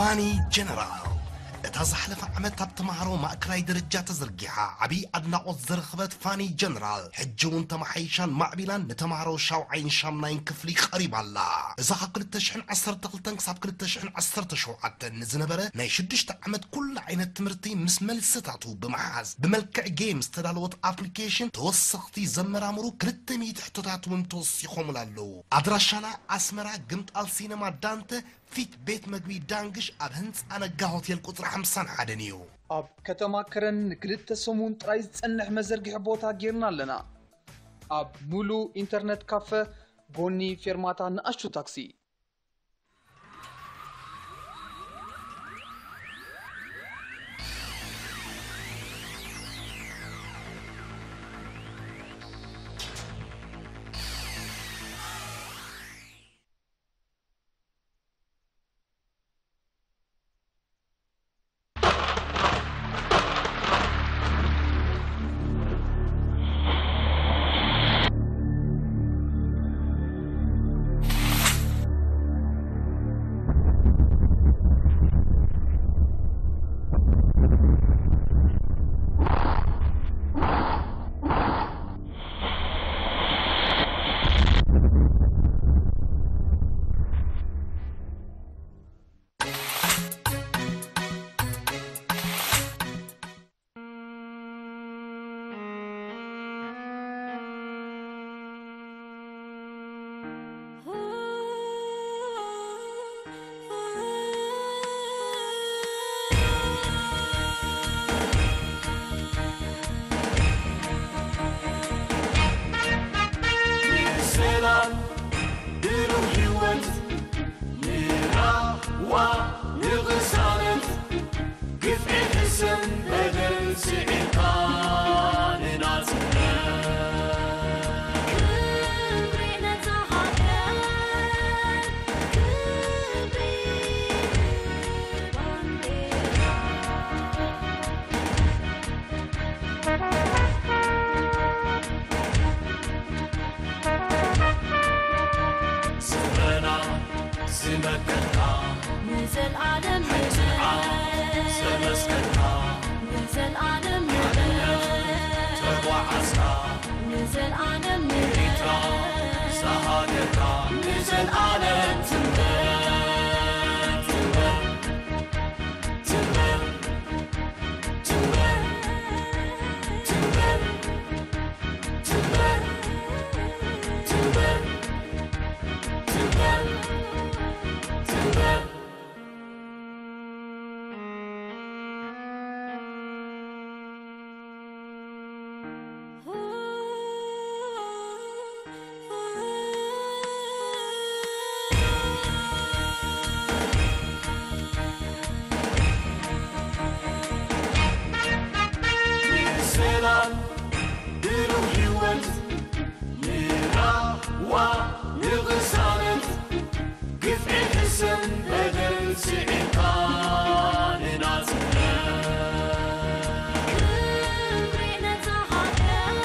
ፋኒ ጀነራል፣ እታ ዝሓለፈ ዓመት ኣብ ተምሃሮ ማእከላይ ደረጃ ተዘርጊሓ ዓብዪ ኣድናቖት ዝረኸበት ፋኒ ጀነራል፣ ሕጂ እውን ተመሓይሻን ማዕቢላን ንተምሃሮ ሻውዓይን ሻምናይን ክፍሊ ቀሪባ ኣላ። እዛ ካብ ክልተ ሽሕን ዓሰርተ ክልተን ክሳብ ክልተ ሽሕን ዓሰርተ ሸውዓተን ንዝነበረ ናይ ሽዱሽተ ዓመት ኩሉ ዓይነት ትምህርቲ ምስ መልስታቱ ብምሓዝ ብመልክዕ ጌም ዝተዳለወት ኣፕሊኬሽን ተወሰኽቲ ዘመራምሩ ክልተ ሚእቲ ሕቶታት እውን ተወሲኾምላ ኣለዉ። ኣድራሻና ኣስመራ ግምጣል ሲነማ ዳንተ ፊት ቤት መግቢ ዳንግሽ ኣብ ህንጻ ነጋ ሆቴል ቁጽሪ ሓምሳን ሓደን እዩ። ኣብ ከተማ ከረን ንክልተ ሰሙን ጥራይ ዝጸንሕ መዘርግሒ ቦታ ጌርና ኣለና። ኣብ ሙሉ ኢንተርነት ካፈ፣ ጎኒ ፌርማታ ንኣሽቱ ታክሲ። ሰላም ብሩህ ህይወት ንራህዋ ንቕሳነት ግፍዒ ሕሰም በደል ስዒርካ ንናጽነት። ክብሪ ነታ ሃገር፣ ክብሪ ባንዴራ። ስምረና ዝመከትካ ንዘልኣለም ንዓይ ንበል። ዘመስከርካ ንዘልኣለም ንበል። ሓድነት ተጓዓዝካ ንዘልኣለም ንበል። ኤርትራ ዝሃገርካ ንዘልኣለም ትንበር፣ ትንበር፣ ትንበር። ሰላም ብሩህ ህይወት ንራህዋ ንቕሳነት ግፍዒ ሕሰም በደል ስዒርካ ንናጽነት። ክብሪ ነታ ሃገር፣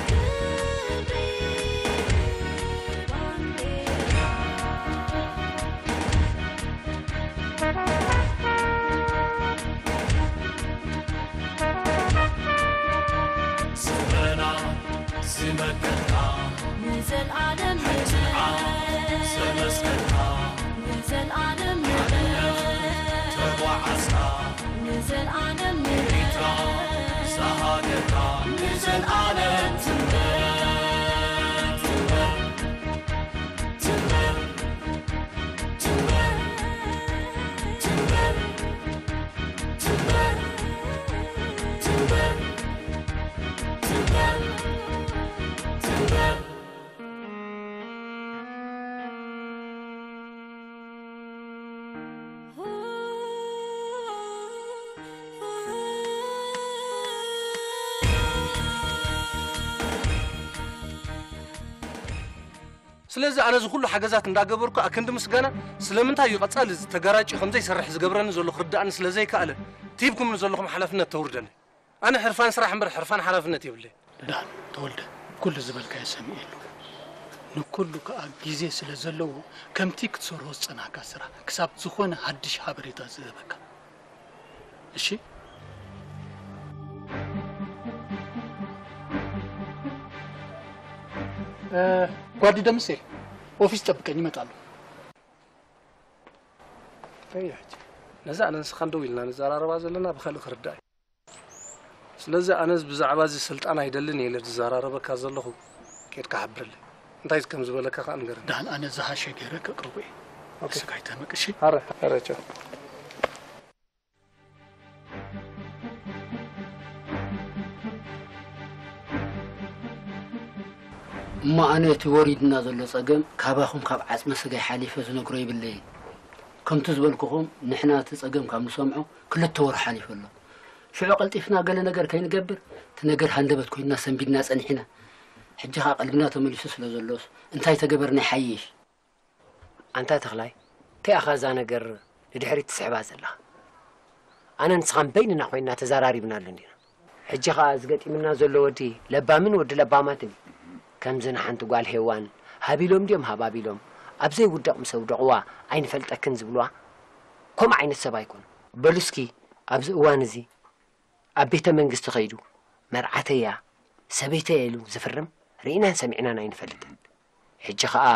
ክብሪ ባንዴራ። ስምረና ዝመከትካ ንዘልኣለም ንዓይ ዘመስከርካ ንዘልኣለም ንዓይ ተጓዓዝካ ንዘልኣለም ንዓይ ኤርትራ ዝሃገርካ ንዘልኣለም ትንበር፣ ትንበር፣ ትንበር፣ ትንበር፣ ትንበር። ስለዚ ኣነ እዚ ኩሉ ሓገዛት እንዳገበርኩ ኣክንዲ ምስጋና ስለምንታይ እዩ ቀጻሊ እዚ ተጋራጭ ከምዘይሰርሕ ዝገብረኒ ዘሎ ክርድኣኒ ስለ ዘይከኣለ እቲ ሂብኩምኒ ዘለኹም ሓላፍነት ተውርደኒ። ኣነ ሕርፋን ስራሕ እምበር ሕርፋን ሓላፍነት የብለይ። ደሓን ተወልደ፣ ኩሉ ዝበልካዮ ሰሚዐ ኣለኹ። ንኩሉ ከኣ ግዜ ስለ ዘለዎ፣ ከምቲ ክትሰርሖ ዝጸናሕካ ስራሕ፣ ክሳብ ዝኾነ ሓድሽ ሓበሬታ ዝህበካ። እሺ? እ፣ ጓዲ ደምሴ፣ ኦፊስ ጠብቀኝ፣ ይመጣሉ። እየ ሕጂ። ነዛ ኣነ ንስኻን ደው ኢልና ንዘራረባ ዘለና ብኻልእ ክርዳእ እዩ። ስለዚ ኣነስ ብዛዕባ እዚ ስልጣን ኣይደልን እየ ኢለ ዝዘራረበካ ዘለኹ፣ ኬድካ ሓብረለይ። እንታይ ከም ዝበለካ ከኣ ንገረኒ። ደሓን ኣነ ዝሓሸ ገይረ ከቅርቦ እየ። ኦኬ። ንስኻ ኣይተመቅ፣ እሺ? ኣረ፣ ኣረ፣ ቻው። እሞ ኣነ እቲ ወሪድና ዘሎ ጸገም ካባኹም ካብ ዓጽመ ስጋይ ሓሊፈ ዝነግሮ የብለይን። ከምቲ ዝበልኩኹም ንሕና እቲ ጸገም ካብ ንሰምዖ ክልተ ወርሒ ሓሊፉ ኣሎ። ሽዑ ቀልጢፍና ገለ ነገር ከይንገብር እቲ ነገር ሃንደበት ኮይንና ሰንቢድና ጸኒሕና። ሕጂ ኸኣ ቀልብና ተመሊሱ ስለ ዘሎስ እንታይ ተገበርና ይሓይሽ? ኣንታ ተኽላይ፣ እንታይ ኢኻ እዛ ነገር ንድሕሪት ትስሕባ ዘለኻ? ኣነ ንስኻን በይንና ኮይንና ተዘራሪብናሉ እንዲና። ሕጂ ኸኣ እዚ ገጢምና ዘሎ ወዲ ለባምን ወዲ ለባማትን እዩ። ከምዚ ንሓንቲ ጓል ሄዋን ሃቢሎም ድዮም ሃባቢሎም፣ ኣብ ዘይውደቕ ምስ ኣውደቕዋ ኣይንፈልጠክን ዝብልዋ ከምኡ ዓይነት ሰብ ኣይኮኑን። በሉ እስኪ ኣብዚ እዋን እዚ ኣብ ቤተ መንግስቲ ከይዱ መርዓተያ ሰበይተያ ኢሉ ዝፍርም ርኢናን ሰሚዕናን ኣይንፈልጥን። ሕጂ ኸኣ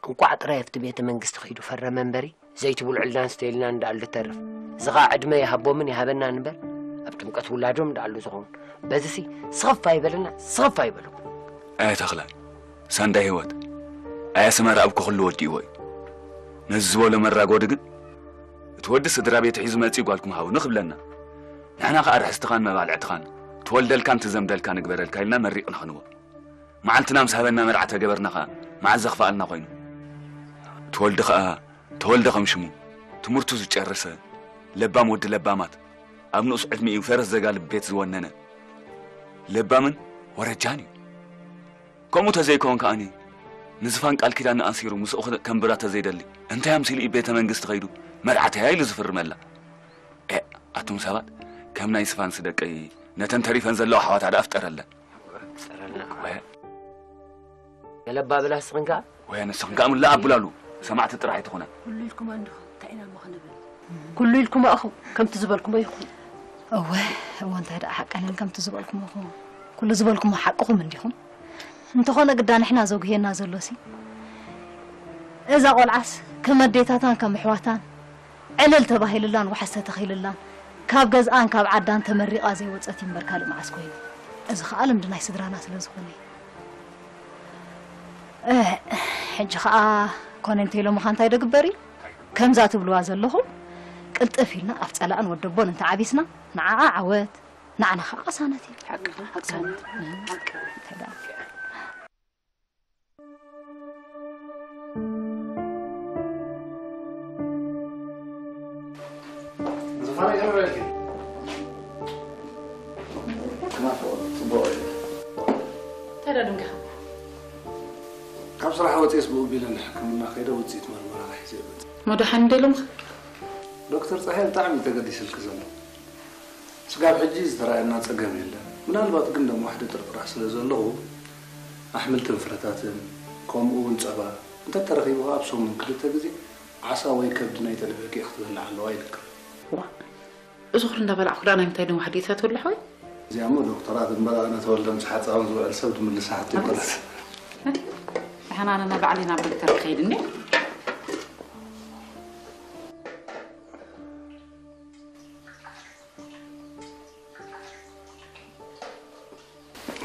እንቋዕ ጥራይ ኣብቲ ቤተ መንግስቲ ከይዱ ፈረመ እምበሪ፣ ዘይትብልዑልናን ስተይልናን እንዳኣሉ ዝተርፍ። እዚ ኸኣ ዕድመ ይሃቦምን ይሃበናን እምበር፣ ኣብ ጥምቀት ውላዶም እንዳኣሉ ዝኾውን። በዚሲ ስኽፍ ኣይበለና፣ ስኽፍ ኣይበለኩም። ኣየ ተኽለ፣ ሳንዳይ ህይወት፣ ኣየ ኣስመራ ኣብ ክኽሉ ወዲእዎ እዩ። ነዚ ዝበሎ መራጎዲ ግን፣ እቲ ወዲ ስድራ ቤት ሒዙ መጺኡ ጓልኩም ሃቡኒ ክብለና። ንሕና ኸኣ ርሕስትኻን መባልዕትኻን፣ ትወልደልካን ትዘምደልካን ንግበረልካ ኢልና መሪቕና ክንዎ። መዓልትና ምስ ሃበና መርዓ ተገበርና ኸኣ፣ መዓዝ ዘኽፍኣልና ኮይኑ። ትወልዲ ኸኣ፣ ተወልደ ከም ሽሙ፣ ትምህርቱ ዝጨረሰ፣ ለባም ወዲ ለባማት፣ ኣብ ንኡስ ዕድሚኡ ፈረስ ዘጋልብ ቤት ዝወነነ። ለባምን ወረጃን እዩ። ከምኡ ተዘይኮን ከኣኒ፣ ንዝፋን ቃል ኪዳን ኣሲሩ ምስኡ ከንብራ ተዘይደሊ፣ እንታይ ኣምሲሉ እዩ ቤተ መንግስቲ ከይዱ መርዓተያ ኢሉ ዝፍርመላ? ኤ፣ ኣቱም ሰባት፣ ከም ናይ ዝፋንሲ ደቀይ ነተን ተሪፈን ዘለዋ ኣሕዋታ ደኣ ፍጠረለን። ፍጠረልና። ወ- ገለ ኣባብላ ስኽን ከኣ? ወ ንስኽን ከኣ ምላእ ኣብላሉ፣ ሰማዕቲ ጥራሕ ኣይትኹና። ኩሉ ኢልኩም እንዲኹም፣ እንታይ ኢና እሞ ክንብል? ኩሉ ኢልኩም ኢኹም፣ ከምቲ ዝበልኩሞ ይኹን። እወ፣ እወ፣ እንታይ ደኣ ሓቀንን ከምቲ ዝበልኩሞ ይኹን። ኩሉ ዝበልኩሞ ሓቅኹም እንዲኹም። እንተኾነ ግዳ ንሕና ዘጉህየና ዘሎሲ፣ እዛ ቆልዓስ ከም ኣዴታታን ከም ኣሕዋታን ዕልል ተባሂልላን ዋሕስ ተተኺልላን ካብ ገዝኣን ካብ ዓዳን ተመሪቓ ዘይወጸት እዩ እምበር ካልእ መዓስ ኮይኑ። እዚ ኸኣ ልምዲ ናይ ስድራና ስለ ዝኾነ እዩ። እ፣ ሕጂ ኸኣ ኮነ እንተ ኢሎምኻ እንታይ ዶ ግበር እዩ? ከምዛ ትብልዋ ዘለኹም ቅልጥፍ ኢልና ኣብ ጸላእን ወደቦን እንተ ዓቢስና ንዓኣ ዓወት፣ ንዓና ኸኣ ቅሳነት እዩ። ሓቂ፣ ሓቂ፣ ሓቂ። እንታይ ደኣ? ዝፋን ይቕርበልኪ። ክናፍቕ ጽቡቕ እዩ። እንታይ ደኣ ደንጊኻ? ካብ ስራሕ ወጺኤስ ብኡ ቢለ ንሕክምና ከይደ ውጽኢት መርመራ ሒዘ እየ መጽእ። እሞ ደሓን እንደ ኢሎምኻ? ዶክተር ጸሃየ ብጣዕሚ እዩ ተገዲስልኪ ዘሎ። ስጋብ ሕጂ ዝተራእየና ጸገም የለን። ምናልባት ግን ደም ዋሕዲ ጥርጥራ ስለ ዘለኹ ኣሕምልትን ፍረታትን ከምኡ እውን ጸባ እንተተረኺቡ ኣብ ሰሙን ክልተ ግዜ ዓሳ ወይ ከብዲ ናይ ጠለበ ኬክ ክትበልዕ ኣለዋ ኢልካ። ዋ፣ እዚ ኩሉ እንዳበላዕኩ ደኣ ናይ ምንታይ ደም ዋሕዲ እታ ትብልሕ ወይ? እዚኣ እሞ ዶክተራት እምበር ኣነ ተወልደ ምስ ሓጻውን ዝውዕል ሰብ ድምልሳ ሕቶ ኣይኮነን። ደሓን ኣነ ባዕለይ ናብ ዶክተር ክኸይድ እኒአ።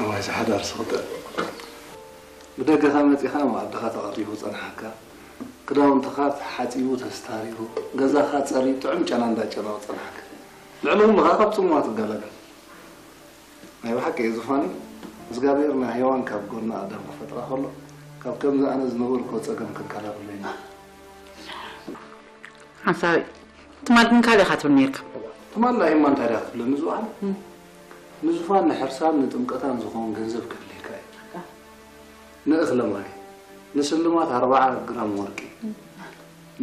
እዋይ፣ እዚ ሓዳር ስኽጥዕ። ብደገኻ መጺኻ፣ መኣድኻ ተቐሪቡ ጸንሓካ፣ ክዳውንትኻ ተሓጺቡ ተስታሪሩ፣ ገዛኻ ጸርዩ ጥዑም ጨና እንዳጨነወ ጸንሓካ። ልዕሊ ኩሉ ኸኣ ካብ ጽምዋ ትገላገል። ናይ ብሓቂ እየ ዙፋኒ፣ እግዚኣብሔር ንሄዋን ካብ ጎና ኣዳም ክፈጥራ ከሎ፣ ካብ ከምዚ ኣነ ዝነበርኩ ጸገም ከገላግሎ እዩ። ሓንሳብ ትማል ግን ካልእ ኢኻ ትብል ነይርካ። ትማል ላሂማ እንታይ ደኣ ክትብለኒ ዝውዓል? እም። ንዙፋን ንሕርሳን ንጥምቀታን ዝኸውን ገንዘብ ከድልየካ እዩ። ንእኽለ ማይ፣ ንስልማት ኣርብዓ ግራም ወርቂ፣ እም።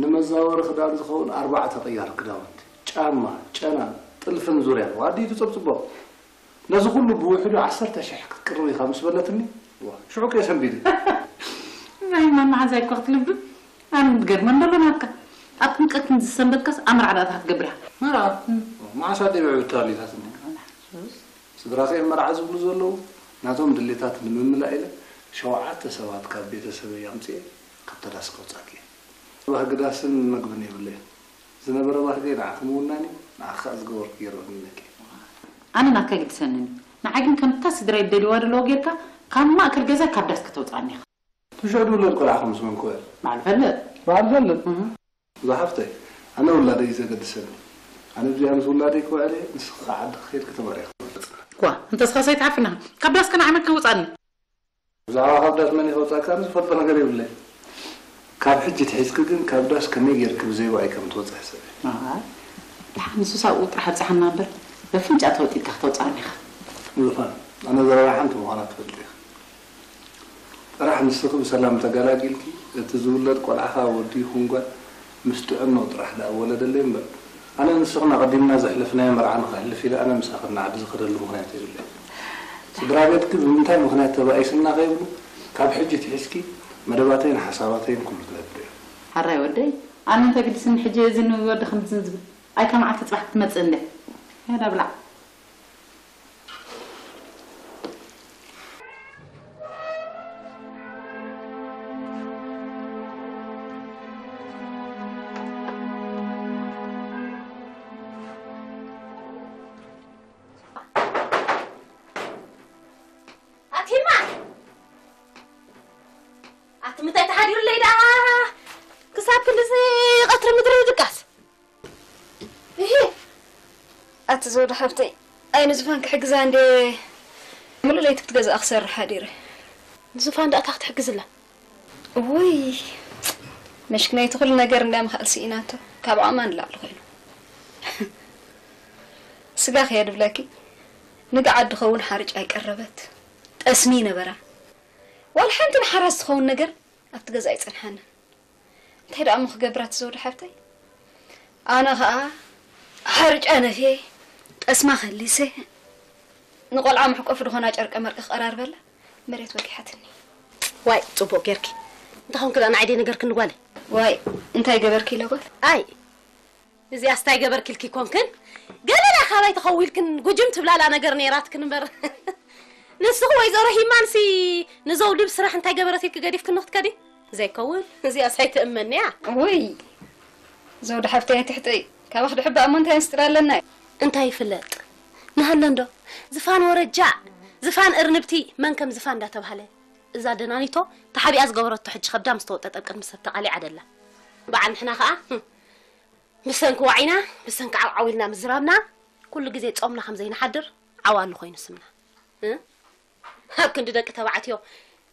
ንመዛወሪ ክዳን ዝኸውን ኣርባዕተ ቅያር ክዳውንቲ፣ ጫማ፣ ጨና፣ ጥልፍን ዙርያን፣ ዋዲ ትጸብጽቦ። ነዚ ኩሉ ብውሕዱ ዓሰርተ ሽሕ ክትቅርብ ኢኻ ምስ በለትኒ፣ ዋ፣ ሽዑ ከየሰንቢደ። ማን መሓዛይ እኮ ክትልብም። ኣነ ዝገርመን ዘሎ ናትካ። ኣብ ጥምቀት ከምዚ ዝሰንበትካስ ኣብ መርዓ ዳኣ ክትገብር ኢኻ። መርዓ? መዓስ ኣደይ ብዕብታ ኣሊታትኒ? ስድራኺ መርዓ ዝብሉ ዘለዉ ናቶም ድሌታት ንምምላእ ኢለ ሸውዓተ ሰባት ካብ ቤተሰበይ ኣምፅኤ ካብታ ዳስ ከውፃኪ እየ። ባህጊ ዳስን መግብን የብለይን። ዝነበረ ባህገይ ንዓኺ ምውናን እዩ፣ ንዓኺ ከኣ ዝገበርኩ ገይረ እውኒነኪ። ኣነ ናትካ ኣይግድሰንን እዩ። ንዓይ ግን ከምታ ስድራይ ዝደልይዋ ዘለዉ ጌርካ ካብ ማእከል ገዛ ካብ ዳስ ከተውጽኣኒ ኢኻ። ትሽዑ ዝውለድ ቆልዓኺ ምስ መን ክውዕል? በዓል ፈልጥ። በዓል ፈልጥ? እህ። እዛ ሓፍተይ፣ ኣነ ውላደይ እዩ ዘገድሰኒ። ኣነ ብዚኣ ምስ ውላደይ ክውዕል እየ፣ ንስኺ ከኣ ዓድኺ ከይድኪ ተመርዒኺ ትመርጽ። ዋ፣ እንተስኻስ ኣይትሓፍን ኢኻ። ካብ ዳስካ ንዓይ መን ከውጽኣኒ? ብዛዕባ ካብ ዳስ መን ከውጽኣካ ዝፈልጦ ነገር የብለይን። ካብ ሕጂ ኣትሒዝኪ ግን ካብ ዳስ ከመይ ጌርኪ ብዘይ ዋዒ ከም ትወጽኢ ሕሰቢ። ኣይ፣ ደሓን ንሱስ ኣብኡ ጥራሕ ኣብጽሓና እምበር፣ በፍንጫ ተወጢጥካ ከተውጽኣኒ ኢኻ። ዙፋን፣ ኣነ ዘረባ ሓንቲ ምዃና ትፈልጢ ኢኺ። ጥራሕ ንስኺ ብሰላም ተገላጊልኪ፣ እቲ ዝውለድ ቆልዓኻ ወዲ ይኹን ጓል ምስ ጥዕናኡ ጥራሕ ደኣ ወለደለይ እምበር፣ ኣነ ንስኽን ኣቐዲምና ዘሕለፍናዮ መርዓ ንኸሕልፍ ኢለ ኣነ ምሳኽን ንዓዲ ዝኸደሉ ምኽንያት የብለይን። ስድራ ቤትኪ ብምንታይ ምኽንያት ተባኢስና ከይብሉ፣ ካብ ሕጂ ኣትሒዝኪ መደባተይን ሓሳባተይን ኩሉ ትነግሪ ኢኺ። ሕራይ ወደይ፣ ኣነ እንታይ ግድስኒ ሕጂ እዚ ንወዲ ከምዚ ዝብል? ኣይ ካብ መዓልቲ ጽባሕ ክትመጽእ እንድያ። ያዳ ብላዕ። ኣቲማ! ኣቲ ምንታይ ተሓዲሩለይ ደኣ? ክሳብ ክንድዚ ቀትሪ ምድሪ ድቃስ? እሂ! ኣቲ ዘውዲ ሓብተይ፣ ኣይ ንዝፋን ክሕግዛ እንዴ ምሉእ ለይቲ ክትገዝኣ ክሰርሕ ሓዲረ። ንዝፋን ደኣ እንታይ ክትሕግዝላ? ውይ፣ መሽክነይቲ ኩሉ ነገር እንዳ ምኽኣል ስኢናቶ፣ ካብ ዓቕማ ንላዕሊ ኮይኑ። ስጋ ከየ ድብለኪ፣ ንግዓት ድኸውን ሓርጭ ኣይቀረበት። ጠስሚ ይነበራ። ዋላ ሓንቲ ንሓራስ ትኸውን ነገር ኣብቲ ገዛ ኣይጸንሓንን። እንታይ ደኣ እሞ ክገብር ኣቲ ዘውዲ ሓብተይ? ኣነ ኸኣ ሓርጫ ነፍየ፣ ጠስማ ከሊሰ፣ ንቖልዓ መሕቆፊ ዝኾና ጨርቀ መርቂ ክቐራርበላ መሬት ወጊሓትኒ። ዋይ፣ ጽቡቕ ጌርኪ። እንተ ኾንኪ ደኣ ንዓይ ደይነገርክኒ ጓለይ? ዋይ፣ እንታይ ገበርኪ ኢለ ጓል? ኣይ፣ እዚኣስ እንታይ ገበርኪልኪ ኮንክን? ገለላ ካባይ ተኸዊልክን ጉጅም ትብላላ ነገር ነይራትክን እምበር። ንስኺ ወይዘሮ ሂማንሲ ንዘውዲ ብስራሕ እንታይ ገበረት ኢልኪ ገዲፍክኒ ክትከዲ? ዘይከውን፣ እዚኣስ ኣይትእመንያ። ውይ፣ ዘውዲ ሓፍተይ ኣይትሕጠይ። ካባኺ ድሕባእ እሞ እንታይ ምስጢር ኣለና እዩ? እንታይ ይፍለጥ? ንሃለ እንዶ፣ ዝፋን ወረጃ፣ ዝፋን እርንብቲ፣ መን ከም ዝፋን እንዳተባህለ። እዛ ደናኒቶ ተሓቢኣ ዝገበረቶ ሕጂ ከብዳ ምስ ተወጠጠ ቅድሚ ሰብ ተቓሊዓ ደላ። በዓል ንሕና ኸኣ፣ ህም፣ ብሰንኪ ዋዒና፣ ብሰንኪ ዓውዓው ኢልና ምዝራብና፣ ኩሉ ግዜ ጾምና ከም ዘይንሓድር ዓዋሉ ኮይኑ ስምና። እ? ኣብ ክንዲ ደቂ ተባዕትዮ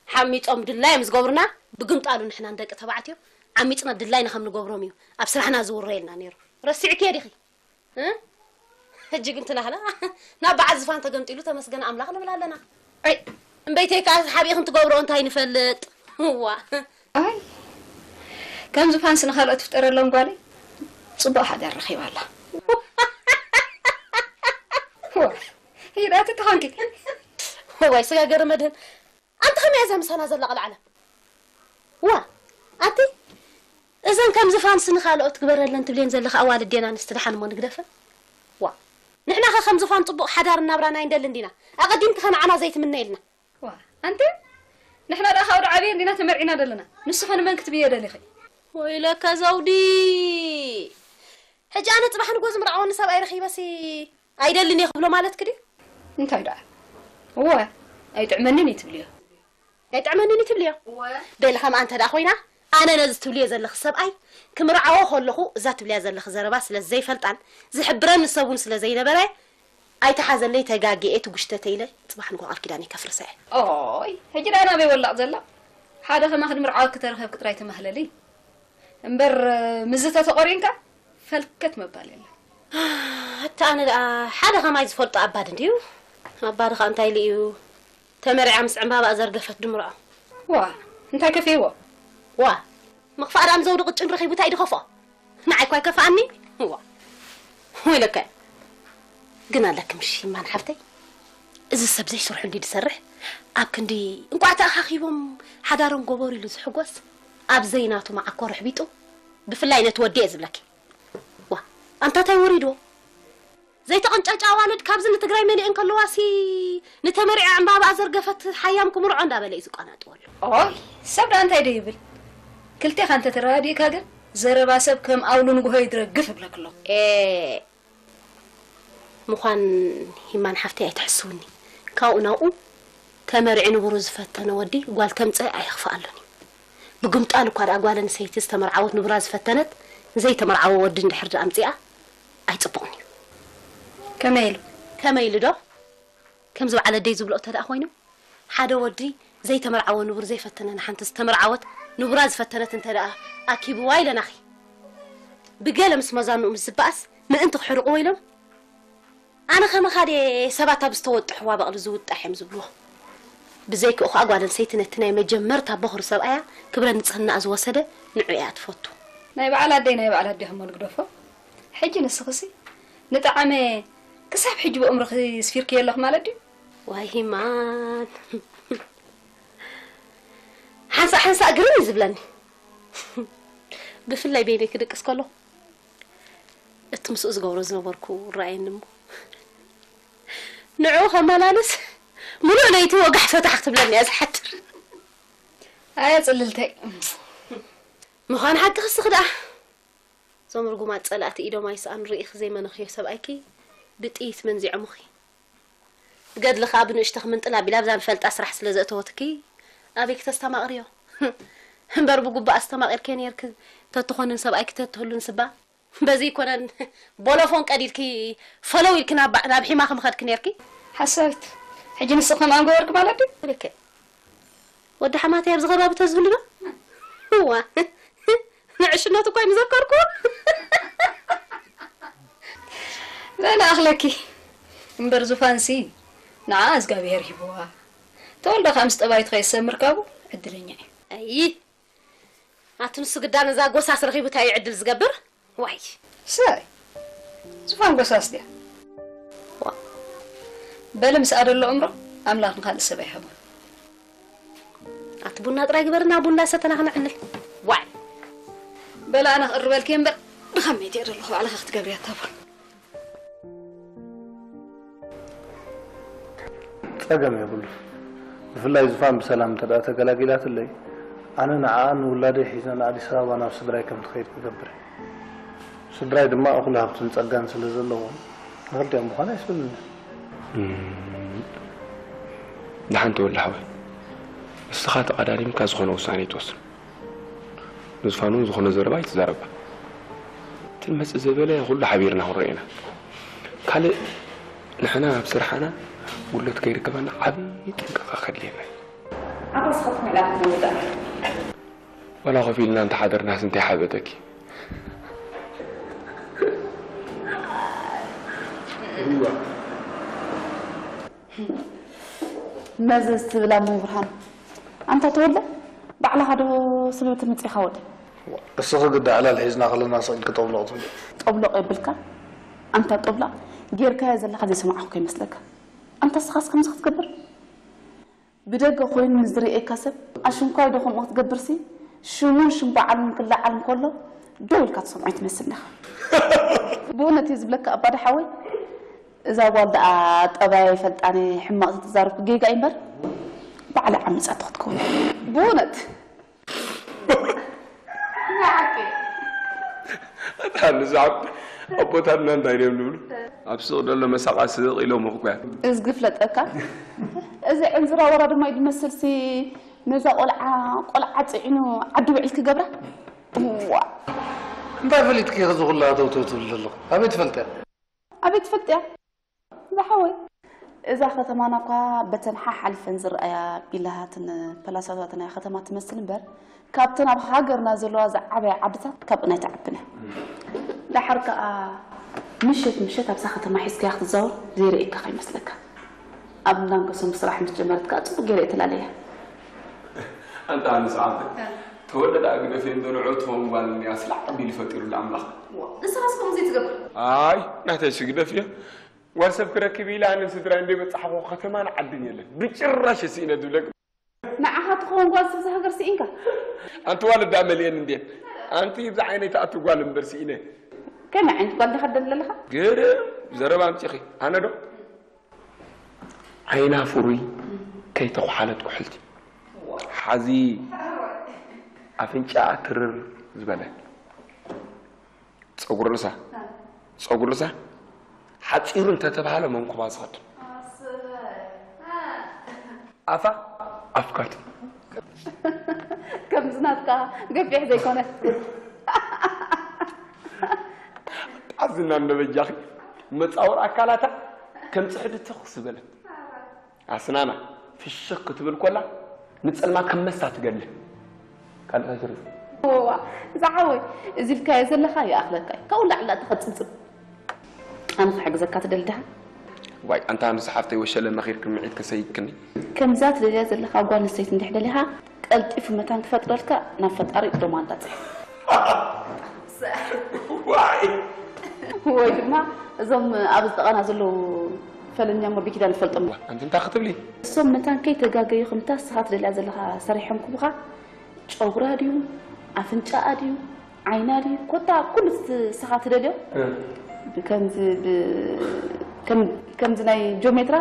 ሓሚጾም ድላዮም ዝገብሩና፣ ብግምጣሉ ንሕና ንደቂ ተባዕትዮ ዓሚጽና ድላይና ከም ንገብሮም እዩ ኣብ ስራሕና ዝውረየልና ነይሩ። ረሲዕክዮ ዲኺ? እ? ሕጂ ግን ትናህና ናብ በዓል ዝፋን ተገምጢሉ ተመስገን ኣምላኽ ንብል ኣለና። ኣይ፣ እምበይተይ ከኣ ሓቢእኽን ትገብርኦ እንታይ ንፈልጥ? እዋ። ኣይ፣ ከም ዝፋንስ ንኻልኦት ትፍጠረሎም ጓለይ ጽቡቕ ሓዳር ረኺባ ኣላ። ዋ፣ ይዳቲ ተኾንኪ። እዋይ፣ ስጋ ገረ መድህን። ኣንቲ ከመይ እያ እዛ ምሳና ዘላ ቐልዓላ? ዋ፣ ኣቲ፣ እዘን ከም ዝፋንስ ንኻልኦት ትግበረለን ትብሌን ዘለኻ ኣዋልድ ዴና ኣንስቲ ደሓን እሞ ንግደፈን? ዋ፣ ንሕና ኸ ከም ዝፋን ጽቡቕ ሓዳር እናብራና ኣይንደልን ዲና? ኣቐዲምኪ ኸ ንዓና ዘይትምነየልና? ዋ፣ ኣንቲ፣ ንሕና ደኣ ካብ ዶ ዓብየን ዲና ተመርዒና ዘለና? ንሱ ኸ ንመን ክትብዮ ደሊኺ? ወይለከ ዘውዲ! ሕጂ ኣነ ጽባሕ ንግሆ ዝምርዓወኒ ሰብኣይ ረኺበሲ ኣይደልን እየ ክብሎ ማለትኪ ድዩ? እንታይ ደኣ? እወ፣ ኣይጥዕመንን እዩ ትብልዮ። ኣይጥዕመንን እዩ ትብልዮ? እወ። በሊ ከምኣ እንተ ደኣ ኮይና፣ ኣነ ነዚ ትብልዮ ዘለኺ ሰብኣይ ክምርዓዎ ከለኹ እዛ ትብልያ ዘለኺ ዘረባ ስለ ዘይፈልጣን ዝሕብረኒ ሰብ እውን ስለ ዘይነበረ፣ ኣይትሓዘለይ ተጋግየ ትጉሽተተ ኢለ ጽባሕ ንግሆ ቃል ኪዳነይ ከፍርሳ እየ። ኦይ፣ ሕጂ ደኣ ናበይ ወላቕ ዘላ? ሓደ ከማኺ ድምርዓወኪ ተረኸብኪ ጥራይ ተማህለሊ። እምበር፣ ምስዚ ተተቖሪንካ ፈልከት ምባል የለን። ኣታ ኣነ ደኣ ሓደ ከማይ ዝፈልጦ ኣባዲ እንድዩ። ኣባዲ ኸኣ እንታይ ኢሉ እዩ? ተመርዕያ ምስ ዕምባባኣ ዘርገፈት ድምርዖ። ዋ፣ እንታይ ከፊእዎ? ዋ፣ ምኽፋእ ደኣ ንዘውዲ ቅጭን ረኺቡ እንታይ ድኸፍኦ? ንዓይ እኳ ኣይከፍኣኒ። ዋ። ወይለከ። ግን ኣለኪ ምሽ ይማን ሓፍተይ። እዚ ሰብ ዘይስርሑ እንዲ ዝሰርሕ፣ ኣብ ክንዲ እንቋዕ ተኣኻኺቦም ሓዳሮም ገበሩ ኢሉ ዝሕጎስ፣ ኣብ ዘይናቱ መዓኮር ኣሕቢጡ፣ ብፍላይ ነቲ ወዲ እየ ዝብለኪ። ዋ፣ ኣንታ ታይ ወሪድዎ? ዘይተቐንጫጫ ኣዋልድ ካብዚ ንትግራይ መሊኤን ከለዋሲ፣ ንተመሪዐ ዕምባባ ዘርገፈት ሓያም ክምርዖ እንዳበለ እዩ ዝቋናጥወሉ። ኦይ፣ ሰብ ደኣ እንታይ ዶ ይብል? ክልቴኻ እንተ ተረዳዲእካ ግን፣ ዘረባ ሰብ ከም ኣውሎ ንግሆ ይድረግፍ እብለክሎ። ኤ፣ ምዃን ሂማን ሓፍተይ ኣይትሕስውኒ። ካብኡ ናብኡ ተመሪዑ ንቡሩ ዝፈተነ ወዲ ጓል ተምጽእ ኣይኽፍኣሉን እዩ። ብግምጣል እኳ ደኣ ጓል ኣንስተይቲ ዝተመርዓወት ንቡራ ዝፈተነት፣ ዘይተመርዓወ ወዲ እንድሕር ደኣ ኣምጺኣ ኣይጽቡቕን እዩ። ከመይ ኢሉ? ከመይ ኢሉ ዶ? ከምዚ በዓል ኣደይ ዝብልኦ እንተ ደኣ ኮይኑ፣ ሓደ ወዲ ዘይተመርዓወ ንቡር ዘይፈተነ ንሓንቲ ዝተመርዓወት ንቡራ ዝፈተነት እንተ ደኣ ኣኪብዋ ኢለናኺ። ብገለ ምስ መዛንኡ ምስ ዝበኣስ ምእንቲ ክሕርቕዎ ኢሎም ኣነ ከማኻ ድየ ሰባት ኣብ ዝተወጥሕዋ በቕሊ ዝውጣሕ እዮም ዝብልዎ። ብዘይክኡ ኸኣ ጓል ኣንስተይቲ ነቲ ናይ መጀመርታ በኹሪ ሰብኣያ ክብረ ንጽህናኣ ዝወሰደ ንዑ እያ ትፈቱ። ናይ በዓል ኣደይ ናይ በዓል ኣዴኹም ግደፎ። ሕጂ ንስኽሲ ንጠዓመ ክሳብ ሕጂ ብእምሮኺ ስፊርክዮ ኣለኹ ማለት ድዩ? ዋይ ሂማን። ሓንሳእ ሓንሳእ ግርም እዩ ዝብለኒ። ብፍላይ በይነይ ክድቅስ ከለኹ እቲ ምስኡ ዝገብሮ ዝነበርኩ ይረኣየኒ እሞ ንዕኡ ከመላልስ ምሉእ ለይቲ ወጋሕ ፈታሕ ክትብለኒ እያ ዝሓድር። ኣየ ጽልልተይ። ምዃን ሓቂ ክስኺ ደኣ። እዞም ርጉማት ጸላእቲ ኢዶም ኣይሰኣኑ ርኢኺ ዘይመነኽዮ ሰብኣይኪ ብጥይት መንዚዖምኺ። ገድሊ ከኣ ብንእሽቶ ክምንጥል ኣቢላ ኣብዛ ንፈልጣ ስራሕ ስለ ዘእተወትኪ ኣበይ ክተስተማቕርዮ? እምበር ብጉባእ ኣስተማቒርክዮ ነይርኪ ተትኾንን ሰብኣይኪ ተትህሉን ስባ በዚ ይኮነን ቦሎፎን ቀዲድኪ ፈለው ኢልኪ ናብ ናብ ሒማኺ ምኸድኪ ነይርኪ። ሓሳዊት፣ ሕጂ ንስኺ ከምኣ ምገበርኪ ማለት ድዩ? ልክዕ። ወዲ ሓማተይ ኣብዚ ከባቢ ተዝህሉ ዶ? እዋ፣ ንዕሽነቱ እኳ ኣይምዘከርኩ። በላ ኣኽለኪ እምበር ዙፋንሲ ንዓ እግዚኣብሄር ሂብዋ። ተወልደ ከኣ ምስ ጠባይቱ ከይሰምር ካብኡ ዕድለኛ እዩ። ኣይ፣ ኣቲ ንሱ ግዳ ነዛ ጎሳስ ረኺቡ እንታይ እዩ ዕድል ዝገብር? ዋይ። ሰይ፣ ዙፋን ጎሳስ ድያ? ዋ። በሊ ምስኣ ደሎ እምሮ ኣምላኽ ንኻልእ ሰብ ኣይሃቦን። ኣቲ ቡና ጥራይ ግበርና፣ ቡና ሰተና ክነዕልል። ዋይ። በላ ኣነ ክቕርበልኪ እምበር ድኻመይ እየ ደለኹ፣ ባዕልኺ ክትገብርያ እታ ቡን። ጸገም የብሉን። ብፍላይ ዙፋን ብሰላም እንተ ደኣ ተገላጊላትለይ፣ ኣነ ንዓኣን ንውላደይ ሒዘ ንኣዲስ ኣበባ ናብ ስድራይ ከም ትኸይድ ክገብር እየ። ስድራይ ድማ እኹል ሃብትን ጸጋን ስለ ዘለዎም፣ ንኽልቲኦም ምዃን ኣይስእንን። እም፣ ደሓን ተወልደ ሓወይ፣ ንስኻ ተቐዳዲምካ ዝኾነ ውሳነ ኣይትወስን። ንዝፋን እውን ዝኾነ ዘረባ ኣይትዛረባ። እቲ ንመጽእ ዘበለ ኩሉ ሓቢርና ክንሪኦ ኢና። ካልእ ንሕና ኣብ ስርሓና ጉድለት ከይርከበና ዓቢ ጥንቃቐ ከድልየና እዩ። ኣብ ራስኻ ትምዕላል ክትነውር ደኣ። ዋላ ኮፍ ኢልና እንተሓደርናስ እንታይ ሓበጠኪ? መዘዝ ትብል ኣሞ ብርሃኑ። ኣንታ ተወልደ፣ ባዕልኻ ዶ ስለ ትምጽኢኻ ወዲ? እስኺ ግዳ ዕላል ሒዝና ከለና ስቕ ኢልኪ ጠብሎቕ ትብሊ። ጠብሎቕ የብልካ። ኣንታ ጠብሎቕ ጌርካዮ ዘለኻ ዘይሰማዕኹ ከይመስለካ። ኣንታ እስኻስ ከምዚ ክትገብር? ብደገ ኮይኑ ንዝርእየካ ሰብ ኣሽንኳይ ዶ ከምኡ ክትገብርሲ ሽሙን ሽም በዓሉን ክለዓል እንከሎ ደው ኢልካ ትሰምዖ ኣይትመስልን ኢኻ። ብእውነት እየ ዝብለካ ኣባ ደሓወይ፣ እዛ ጓል ደኣ ጠባያ ይፈልጣን ሕማቕ ተተዛረብኩ ጌጋ እዩ እምበር ባዕላ ዓሚጻቶ ክትከውን። ብእውነት። ናይ ሓቂ። ኣታ ንዛዕብ ኣቦታትና እንታይ ድዮም ዝብሉ? ኣብ ስቕ ደሎ መሳቓ ስቕ ኢሎም እኮ እያ። እዝጊ ፍለጠካ። እዚ ዕንዝራ ወራ ድማ እዩ ዝመስልሲ ነዛ ቆልዓ፣ ቆልዓ ጽዒኑ ዓዲ ውዒል ክገብራ? እዋ። እንታይ ፈሊጥኪ ኢኺ እዚ ኩሉ ሃተውተው ትብሊ ዘለኹ? ኣበይ ትፈልጥያ? ኣበይ ትፈልጥያ? ዝሓወይ፣ እዛ ከተማና እኳ በተን ሓሓሊፈን ዝረኣያ ቢላታትን ፓላሳታትን እያ ከተማ ትመስል እምበር፣ ካብተን ኣብ ሃገርና ዘለዋ ዝዓበያ ዓድታት ካብአን ኣይትዓብን እያ። ደሓር ከኣ ምሸት ምሸት ኣብዛ ከተማ ሒዝካያ ክትዛወር ዘይርእየካ ከይመስለካ። ኣብ እንዳንገሶም ስራሕ ምስ ጀመረት ከኣ ጽቡቕ ገይረ እየ ተላለያ። ኣንታ ኣነ ሰዓት ተወለደ ኣግደፍ እንዶ ንዑ ትኸውን ጓል እኒኣ ስላዕ ኣቢሉ ፈጢሩላ ኣምላኽ። ንስኻስ ከምኡ ዘይትገብር? ኣይ፣ ናተይ ስግደፍ እየ። ጓል ሰብ ክረክብ ኢለ ኣንን ስድራይ እንደ በጻሕኹ ከተማን ዓድን የለን። ብጭራሽ ስኢነ ዝብለክ። ንዓኻ ትኸውን ጓል ሰብ እዛ ሃገር ስኢንካ። ኣንቲ ዋልዳ መሊኤን እንዴ? ኣንቲ እዛ ዓይነይ ትኣቱ ጓል እምበር ስኢነ። ከመይ ዓይነት ጓል ዲኻ ትደሊ ዘለኻ? ግርም ዘረባ ኣምጺኺ። ኣነ ዶ? ዓይና ፍሩይ ከይተኹሓለት ኩሕልቲ። ሓዚ ኣፍንጫኣ ትርር ዝበለ። ጸጉሪ ርእሳ። ጸጉሪ ርእሳ። ሓጺሩ እንተተባህለ መንኩባ ዝኸድ። ኣፋ ኣፍካት። ከምዚ ናትካ ገፊሕ ዘይኮነ። ጣዝና እንዶ በጃኺ መጻወር ኣካላታ ከም ጽሕዲ ትኽ ዝበለት። ኣስናና ፍሽኽ ክትብል ኮላ ንጸልማት ከም መስታ ትገድል። ካልእ እንታይ ትርኢ? ዋ፣ ዝሓወይ፣ እዚ ኢልካዮ ዘለኻ ይኣኽለካ እዩ። ካብኡ ላዕሊ ላዕሊ ተኸጽጽብ። ኣነ ክሕግዘካ ትደሊ ድኻ? ዋይ፣ ኣንታ ኣነስ ሓፍተይ ወሸለ መኺርክን ምዒት ከሰይክኒ። ከምዛ ትደልያ ዘለኻ ጓል ኣንስተይቲ እንድሕር ደሊኻ፣ ቀልጢፉ መታን ክፈጥረልካ ናብ ፈጣሪ ዶማንዳ ጽሕፍ። ዋይ! ወይ ድማ እዞም ኣብ ዝጠቐና ዘለዉ ፈለኛ እሞ ብኪዳን ትፈልጦም። ኣንቲ እንታይ ክትብሊ? እሶም መታን ከይተጋገዩ ከምታ እስኻ ትደልያ ዘለኻ ሰሪሖም ክቡኻ ጨጉራ ድዩ ኣፍንጫኣ ድዩ ዓይና ድዩ ኮታ ኩሉ እቲ እስኻ ትደልዮ ከምዚ ብ- ከም- ከምዚ ናይ ጆሜትራ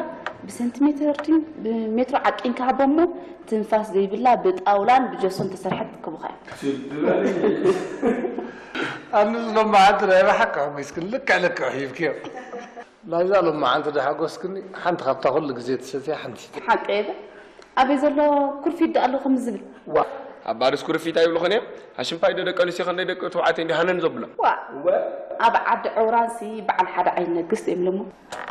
ብሰንቲሜትር ድዩ ብሜትሮ ዓቂንካ ሃቦ እሞ ትንፋስ ዘይብላ ብጣውላን ብጀሶን ተሰርሐት ክቡኻ እዩ። ኣንስ ሎማዓንቲ ናይ ብሓቂ ኣመስግን ልክዕ ልክዕ ሂብክዮ። ናይዛ ሎማዓንቲ ዶ ሓጎስክኒ ሓንቲ ካብታ ኩሉ ግዜ ትሰትያ ሓንቲ። ሓቂ እየ። ኣበይ ዘሎ ኩርፊት ዶ ኣሎ ከምዚ ዝብል? ኣብ ባርስ ኩርፊት ኣይብልኹን እዮም። ኣሽንፋይ ዶ ደቂ ኣንስትዮ ከንደይ ደቂ ተባዕትዮ እንዲ ሃነን ዘብሎ። ዋ ኣብ ዓዲ ዕውራንሲ በዓል ሓደ ዓይነግስ እዮም ለሞ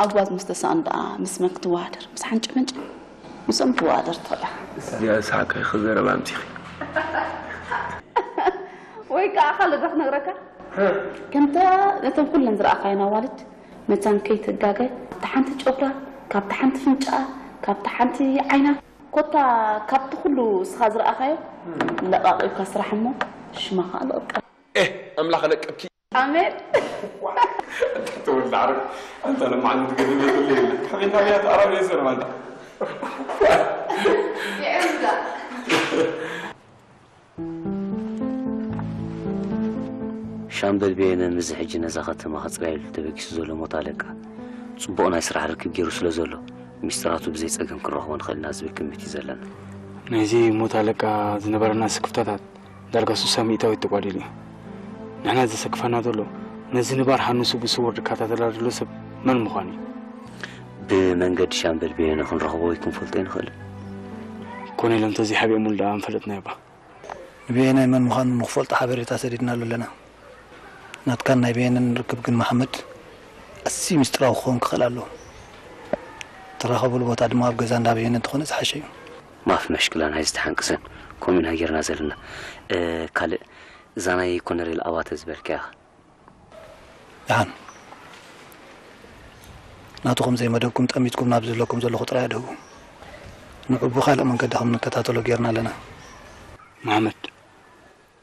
ኣብ ጓዝ ምስ ተሳእኑ ደኣ ምስ መን ክትወዳደር ምስ ሓንጭ መንጭ ምስኦም ትወዳደር ትኽእል ኢኻ። እዚኣ ሳቀ ክዘረብ ኣምጺኺ። ወይ ከዓ ካልእ ዶ ክነግረካ ከምታ ነተን ኩለን ዝረኣኻየን ኣዋልድ መታን ከይትጋገ ካብታ ሓንቲ ጨጉራ ካብታ ሓንቲ ፍንጫኣ ካብታ ሓንቲ ዓይና ኮታ ካብቲ ኩሉ እስኻ ዝረኣኻዮ ለቓቒብካ ስራሕ እሞ ሽማ ከዓ ለቕቀ ኤህ ኣምላኽ ለቅብኪ ኣሜን ተወልድ ዓረብ ኣንተ ለማዓሉ ትገድል የለ ከመይ ታብያ ተኣራብ የሰር ማንታ ሻምበል በየነ ምስዚ ሕጂ ነዛ ከተማ ክጽርያሉ ተበጊሱ ዘሎ ሞት ኣለቃ ጽቡቕ ናይ ስራሕ ርክብ ገይሩ ስለ ዘሎ ሚስጥራቱ ብዘይ ጸገም ክንረኽቦ ንኽእል ኢና ዝብል ግምት እዩ ዘለና። ናይዚ ሞት ኣለቃ ዝነበረና ስክፍታታት ዳርጋ ሱሳ ሚእታዊት ተጓዲሉ እዩ። ንሕና ዘሰክፈና ዘሎ ነዚ ንባር ሃንሱ ብስውር ዝከታተላ ዘሎ ሰብ መን ምዃኑ እዩ። ብመንገዲ ሻምበል በየነ ክንረኽቦ ወይ ክንፈልጦ ኣይንኽእልን። ኮነ ኢሎም ተዘይሓቢኦምሉ ደኣ ምፈለጥናዮ እባ። ንበየናይ መን ምዃኑ ንኽፈልጦ ሓበሬታ ሰዲድናሉ ኣለና። ናትካን ናይ በየነን ርክብ ግን መሓመድ ኣዝዩ ሚስጥራዊ ክኸውን ክኽእል ኣለዎ። ትራኸብሉ ቦታ ድማ ኣብ ገዛ እንዳ በየነ እንተኾነ ዝሓሸ እዩ። ማፍ መሽክላ ናይዚ ተሓንቅሰን ከምኡ ኢና ጌርና ዘለና። ካልእ እዛ ናይ ኮነሬል ኣባተ ዝበልካያ ደሓን ናቱ ከም ዘይመደብኩም ጠሚትኩም ናብ ዝብለኩም ዘለኹ ጥራይ ኣድህቡ። ንዑ ብኻልእ መንገዲ ከም ንከታተሎ ጌርና ኣለና። መሓመድ፣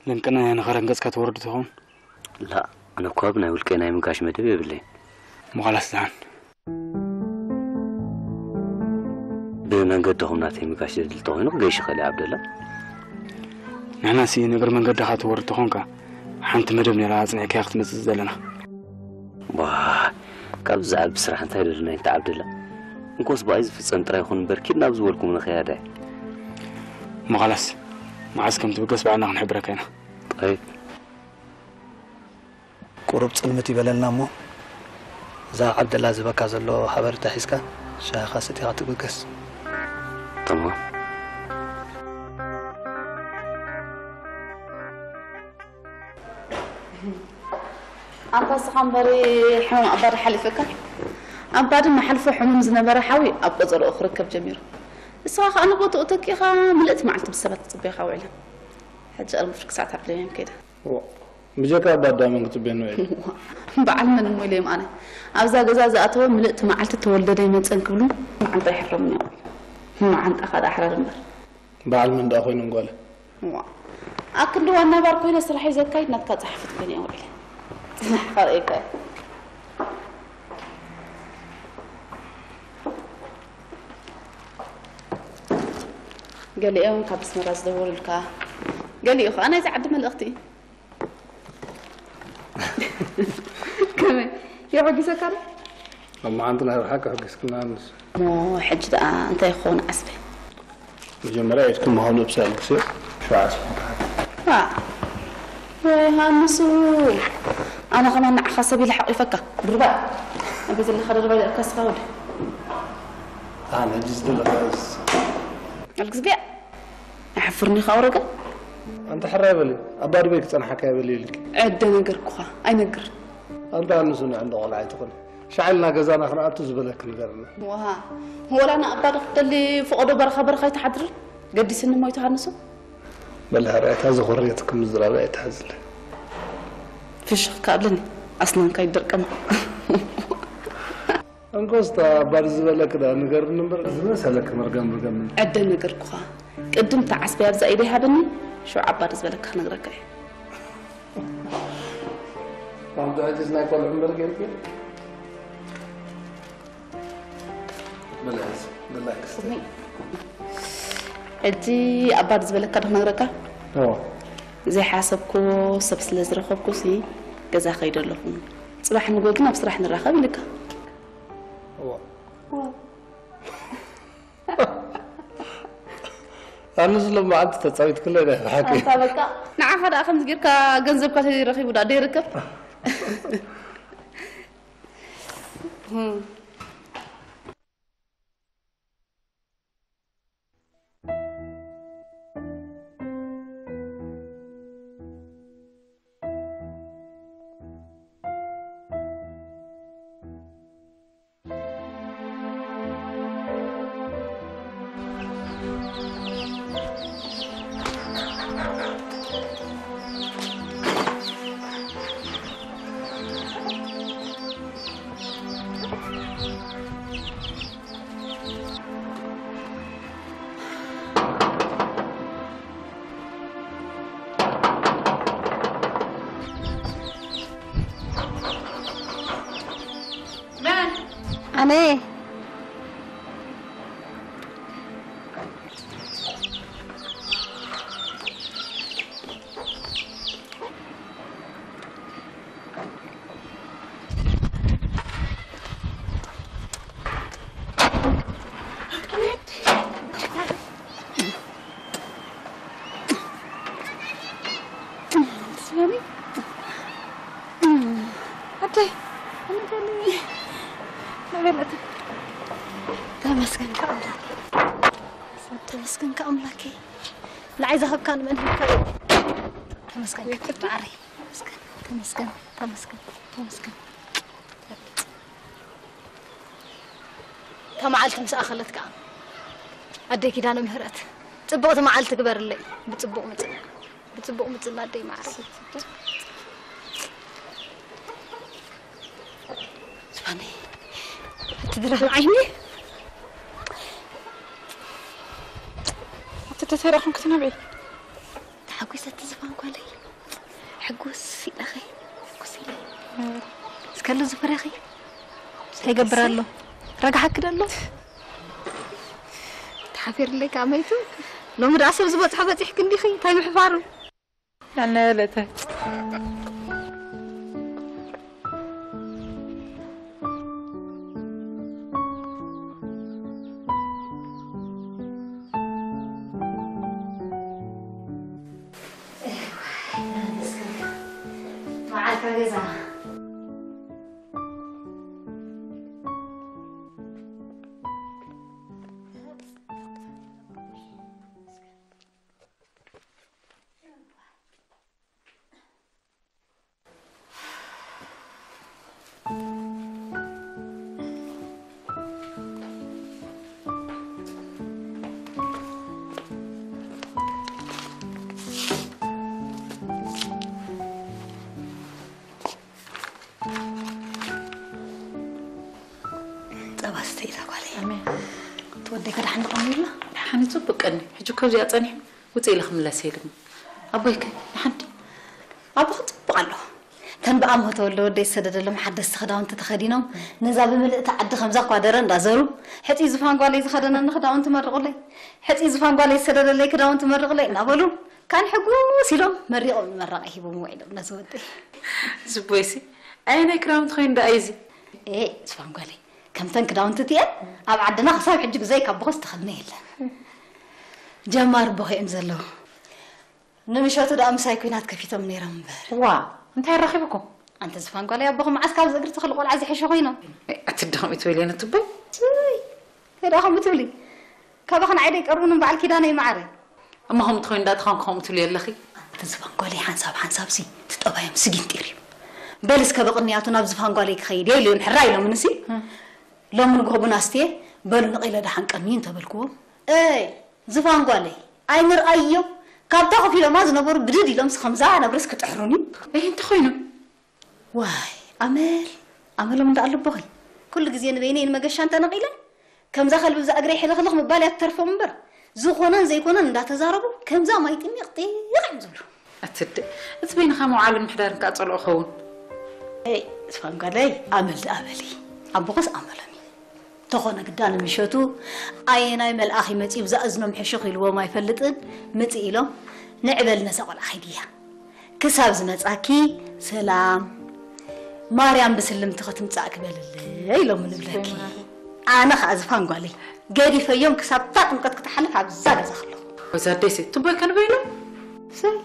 ለንቅና እያ ንኸረን ገጽካ ትወርድ ትኸውን? ላእ፣ ኣነ እኳ ብናይ ውልቀይ ናይ ምጋሽ መደብ የብለይን። እሞ ኻላስ ደሓን። ብመንገድኹም ናተይ ምጋሽ ዘድሊ ተኾይኑ ክገይሽ ይኽእል እየ ዓብደላ። ንሕናሲ ንእግሪ መንገድኻ ትወርድ ተኾንካ ሓንቲ መደብ ነይራ ኣጽኒዕካያ ክትመጽእ ዝደለና። ዋ፣ ካብዚ ዝዓቢ ስራሕ እንታይ ደለና ኢንታ ዓብደላ? እንኮስ ብኣይ ዝፍጸም ጥራይ ይኹን እምበር ኪድ ናብ ዝበልኩም ንኸያዳ እየ። እሞ ኻላስ፣ መዓስ ከም ትብገስ ባዕልና ክንሕብረካ ኢና። ጠይብ። ቁሩብ ጽልምት ይበለልና እሞ እዛ ዓብደላ ዝህበካ ዘሎ ሓበሬታ ሒዝካ ሻሂኻ ሰቲኻ ትብገስ። ተማም። ኣንታ እስኻ እምበሪ ሕሙም ኣባ ዶ ሓሊፈካ? ኣባ ድማ ሓልፎ ሕሙም ዝነበረ ሓዊ ኣብ ቆጸርኡ ክርከብ ጀሚሩ። ንስኻ ከኣ ንቦትኡ ተኪእኻ ምልእቲ መዓልቲ ብሰባት ክጽበዩኻ ውዒላ። ሕጂ ቅድሚ ፍርቂ ሰዓት ኣብ ለብያን ከይደ። ብጀካ ኣባ ኣዳመን ክጽበየኒ ውዒሉ። በዓል መን እሞ ኢለ እም ኣነ ኣብዛ ገዛ ዝኣተወ ምልእቲ መዓልቲ ተወልደ ዶ ኣይመጸን ክብሉ መዓንጣ ይሕረሙኒ እዮም። መዓንጣኻ ደኣ ኣሕረር እምበር። በዓል መን ደኣ ኮይኖም ጓለ? እዋ ኣክንዲ ዋና ባር ኮይነ ስራሐይ ዘካይድ ናትካ ጸሓፊት ኮይነ እየ ውዒለ። ጽናሕ ከርእየካ እየ። ገሊኦም ካብ ኣስመራ ዝደወሉልካ፣ ገሊኡ ኸኣ ናይዚ ዓዲ መልእኽቲ። ከመይ? የሐጒሰካ ዶ? ኣብ መዓንቲ ናይ ብሓቂ ኣሐጒስክና ንሱ። እሞ ሕጂ ደኣ እንታይ ይኸውን ዓስበይ? መጀመርያ ኢድኪ ምሃኑ እብሲ ኣልግስዮ። ሸዓ ስፍንታት። ዋ። ወይ ሃንሱ። ኣነ ከማን ንዓኻ ሰብ ኢለ ሓቂፈካ። ድርባይ። ኣብ ዘለኻ ድርባይ ደኣ ካስኻ ወደ። ኣነ ሕጂ ዝደለኻ እስ። ኣልግስግያ። ኣሕፍርኒ ኻውረገ። ኣንተ ሕራይ በሊ። ኣባ ድበይ ክጸንሓካ ይበሊ ኢልኪ። ዕደ ነገርኩኻ። ኣይነግር። ኣንተ ኣንሱ ንዕንዶ ቆልዓ ኣይትኹን። ሻዕልና ገዛና ክንኣቱ ዝበለክ ንገርና። ዋሃ። ወላ ንኣባ ዶ ክትደሊ ፈቐዶ በረኻ በረኻ ኣይትሓድርን? ገዲስኒ እሞ ኣይትሃንሱ። በል ሕራይ እታ ዝኾርየትክ ምዝራብ ኣይትሓዝለ። ፍሽኽ ከኣብለኒ። ኣስናንካ ይደርቀማ። እንኮስታ ኣባ ዝበለክ ዳ ንገርኒ እምበር ዝመሰለክ መርገም ርገም። ዕደ ነገርኩኻ። ቅድም እታ ዓስበይ ኣብዛ ኢደይ ሃበኒ፣ ሽዑ ኣባ ዝበለካ ክነግረካ እየ። ኣንተ ሕጂስ ናይ ቆልዑ እምበር ጌርኪ? በል ሕዚ፣ በል ክስተ። ስሚ። ሕጂ ኣባ ዝበለካ ዶ ክነግረካ? እዎ። ዘይሓሰብኩ ሰብ ስለ ዝረኸብኩ ሲ ገዛ ከይደ ኣለኹ። ጽባሕ ንግሆ ግን ኣብ ስራሕ ንራኸብ ኢልካ። እዎ። እዎ። ኣነ ስለ መዓልቲ ተጻዊት ክለ ደ ሓቂ። ኣንታ በቃ ንዓኻ ደኣ ከምዚ ጌርካ ገንዘብካ ተረኺቡ ደኣ ደይርከብ። መን? ኣነ። ኣደይ፣ ተመስገን ከኣምላክ፣ ተመስገን ከኣምላክ። ንዓይ ዝሃብካ ንመን ሂብካ? ተመስገን ማዓረይ። ተመስገን፣ ተመስገን፣ ተመስገን፣ ተመስገን። እታ መዓልቲ ምስ ኣኸለት ከኣ ኣደይ ኪዳነ ምህረት ጽብቕቲ መዓልቲ ግበርለይ። ብጽቡቕ ምጽና፣ ብጽቡቕ ምጽና ኣደይ ማዓረይ። ዝፋነይ፣ እቲ ድራር ዓይኒ እቲ ተተረኹም ክትነብዒ ተሓጒሰ እቲ ዝፋን ጓለይ። ሕጉስ ኢለኺ፣ ሕጉስ ኢለ። እስከ ኣሎ ዝፈረኺ እንታይ ይገብር ኣሎ? ረግሓኪ ዶ ኣሎ? ተሓፊርለይ ከኣ መይቱ። ሎሚ ደኣ ሰብ ዝበጽሖ በጺሕኪ እንዲኺ፣ እንታይ ምሕፋሩ? ኣነ ለተ መዓልካ ገዛ። ጸባ ስተይ እዛ ጓለይ። ኣሜን። እቲ ወደይ ከ ደሓን ዶ ቀኒዩላ? ደሓን እዩ፣ ጽቡቅ ቀኒ። ሕጂ እኮ እዚኣ ጸኒሑ ውጽእ ኢለ ክምለስ እየ ድማ። ኣቦይ ከ ደሓን ድዩ? ኣቦኺ ጽቡቅ ኣሎ። ተን ብኣሞ ተወልደ ወደይ ዝሰደደሎም ሓደስቲ ክዳውንቲ ተኸዲኖም፣ ነዛ ብምልእቲ ዓዲ ከምዛ እኳ ደረ እንዳዘሩ፣ "ሕጺ ዝፋን ጓለይ ዝኸደነኒ ክዳውንቲ መርቑለይ፣ ሕጺ ዝፋን ጓለይ ዝሰደደለይ ክዳውንቲ መርቑለይ" እናበሉ፣ ካን ሕጉስ ኢሎም መሪቖም ንመራቒ ሂቦም ውዒሎም ነዚ ወደይ። ዝቦይሲ፣ ኣየናይ ክዳውንቲ ኮይኑ ደኣ እዩ እዚ? ኤ፣ ዝፋን ጓለይ፣ ከምተን ክዳውንቲ እቲኤን ኣብ ዓድና ክሳብ ሕጂ ብዘይካ ኣቦኸስ ተኸድነ የለን። ጀማር ኣቦኸ እዮም ዘለዉ። ንምሸቱ ደኣ ምሳይ ኲናት ከፊቶም ነይሮም እምበር። ዋ፣ እንታይ ኣራኺብኩም? ኣንተ ዝፋን ጓለይ፣ ኣቦኹም መዓስ ካብዚ እግሪ ተኽሊ ቆልዓ ዝሕሸ ኮይኖም? ኣቲ ደኸም እትበሊ ኣነ ትቦይ። እይ፣ እንታይ ደኣ ከምኡ ትብሊ? ካባኺ ንዓይ ዶ ይቀርቡኒ እምበዓል ኪዳነይ መዓረይ? እሞ ከምኡ ትኾይኑ ደኣ ተኾንኩ ከምኡ ትብሊ ኣለኺ? ኣንተ ዝፋን ጓለይ፣ ሓንሳብ ሓንሳብሲ እቲ ጠባዮም ስጊንጢር እዩ። በል እስከ ብቕንያቱ ናብ ዝፋን ጓለይ ክኸይድ እየ ኢሉ ሕራይ ኢሎምንሲ። እም። ሎሚ ንግሆ ቡን ኣስትየ፣ በሉ ንቒለ ደሓን ቀንዩ እንተበልክዎም፣ እይ፣ ዝፋን ጓለይ፣ ኣይንርኣዮ፣ ካብታ ኮፍ ኢሎማ ዝነበሩ ብድድ ኢሎምስ ከምዛ ነብርስ ክጥሕሩኒ። እይ፣ እንተኾይኑ? ዋይ፣ ኣመል፣ ኣመሎም እንዳ ኣለቦኺ። ኩሉ ግዜ ንበይነይ ንመገሻ እንተነቒለ፣ ከምዛ ከልቢ ብዛ እግረይ ሕልኽልኽ ምባል እያ ትተርፎም እምበር፣ ዝኾነን ዘይኮነን እንዳተዛረቡ፣ ከምዛ ማይ ጥሚቕ ጢቕ እዮም ዝብሉ። ኣትድ፣ እቲ በይንኻ ምውዓልን ምሕዳርን ከኣ ጸልኦ ኸውን። ኤይ፣ ዝፋን ጓለይ፣ ኣመል ደኣ በሊ። ኣቦኸስ ኣመሎም እዩ። ተኾነ ግዳ ንምሸቱ ኣየናይ መልኣኽ ይመጽእ ብዛ እዝኖም ሕሹኽ ኢልዎም ኣይፈልጥን፣ ምጽእ ኢሎም፣ ንዕበል ነዛ ቆልዓ ኺድያ። ክሳብ ዝመጻኪ ሰላም፣ ማርያም ብስልምቲ ክትምጻእ ክበልለይ ኢሎም ንብለኪ። ኣነ ኸኣ ዝፋን ጓለይ፣ ገዲፈዮም ክሳብ እታ ጥምቀት ክትሓልፍ ኣብዛ ገዛ ከለኹ። ወይዛ ደሴ፣ ትቦይ ከንበይኑ? ሰይ፣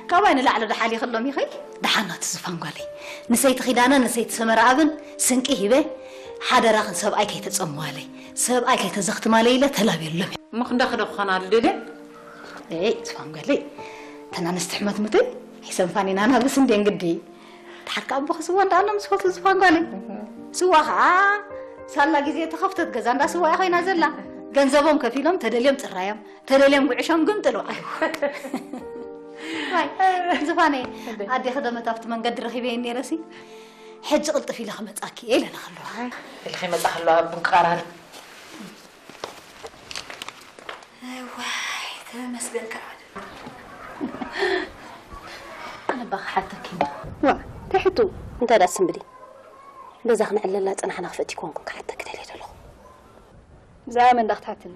ካባይ ንላዕሊ ዶ ሓሊኽሎም ኢኺ? ደሓን ናቲ ዝፋን ጓለይ። ንሰይቲ ኪዳነ፣ ንሰይቲ ሰመረ ኣብን ስንቂ ሂበ፣ ሓደራኽን ሰብኣይ ከይተጸምዋለይ፣ ሰብኣይ ከይተዘኽትማለይ ኢለ ተላብየሎም እየ። እሞ ክንዳኺ ዶ ክኾና ልደልየን? ኤይ፣ ዝፋን ጓለይ፣ እተን ኣንስቲ ሕመት ሙተይ ኣይሰንፋን ኢና፣ ናብስ እንድየን ግዲ። ድሓር ከኣ ኣቦኺ ስዋ እንዳኣሎም ዝፈትዉ ዝፋን ጓለይ። ስዋ ኸኣ ሳላ ግዜ ተኸፍተት ገዛ እንዳ ስዋ እያ ኮይና ዘላ። ገንዘቦም ከፊሎም ተደልዮም ጽራዮም፣ ተደልዮም ጉዕሾም ግምጥሉ። ዋይ፣ ዝፋነይ፣ ኣዴኺ ዶ መታፍቲ መንገዲ ረኺበየን ነይረሲ? ሕጂ ቅልጥፍ ኢለ ክመጻኪ እየ ኢለና ከለዋ። ኢልኺ መጻ ከለዋ ቡን ክቐራርብ። ዋይ፣ ተመስገን ከኣ። ኣነ እባ ክሓተኪ። ዋ፣ እንታይ ሕቶ? እንታይ ደኣ ስምብዲ? በዛ ክንዕለላ ጸናሕና ክፍእቲ ኮንኩ ክሓተኪ ደልየ ዘለኹ። ብዛዕባ መን ደኣ ክትሓትኒ?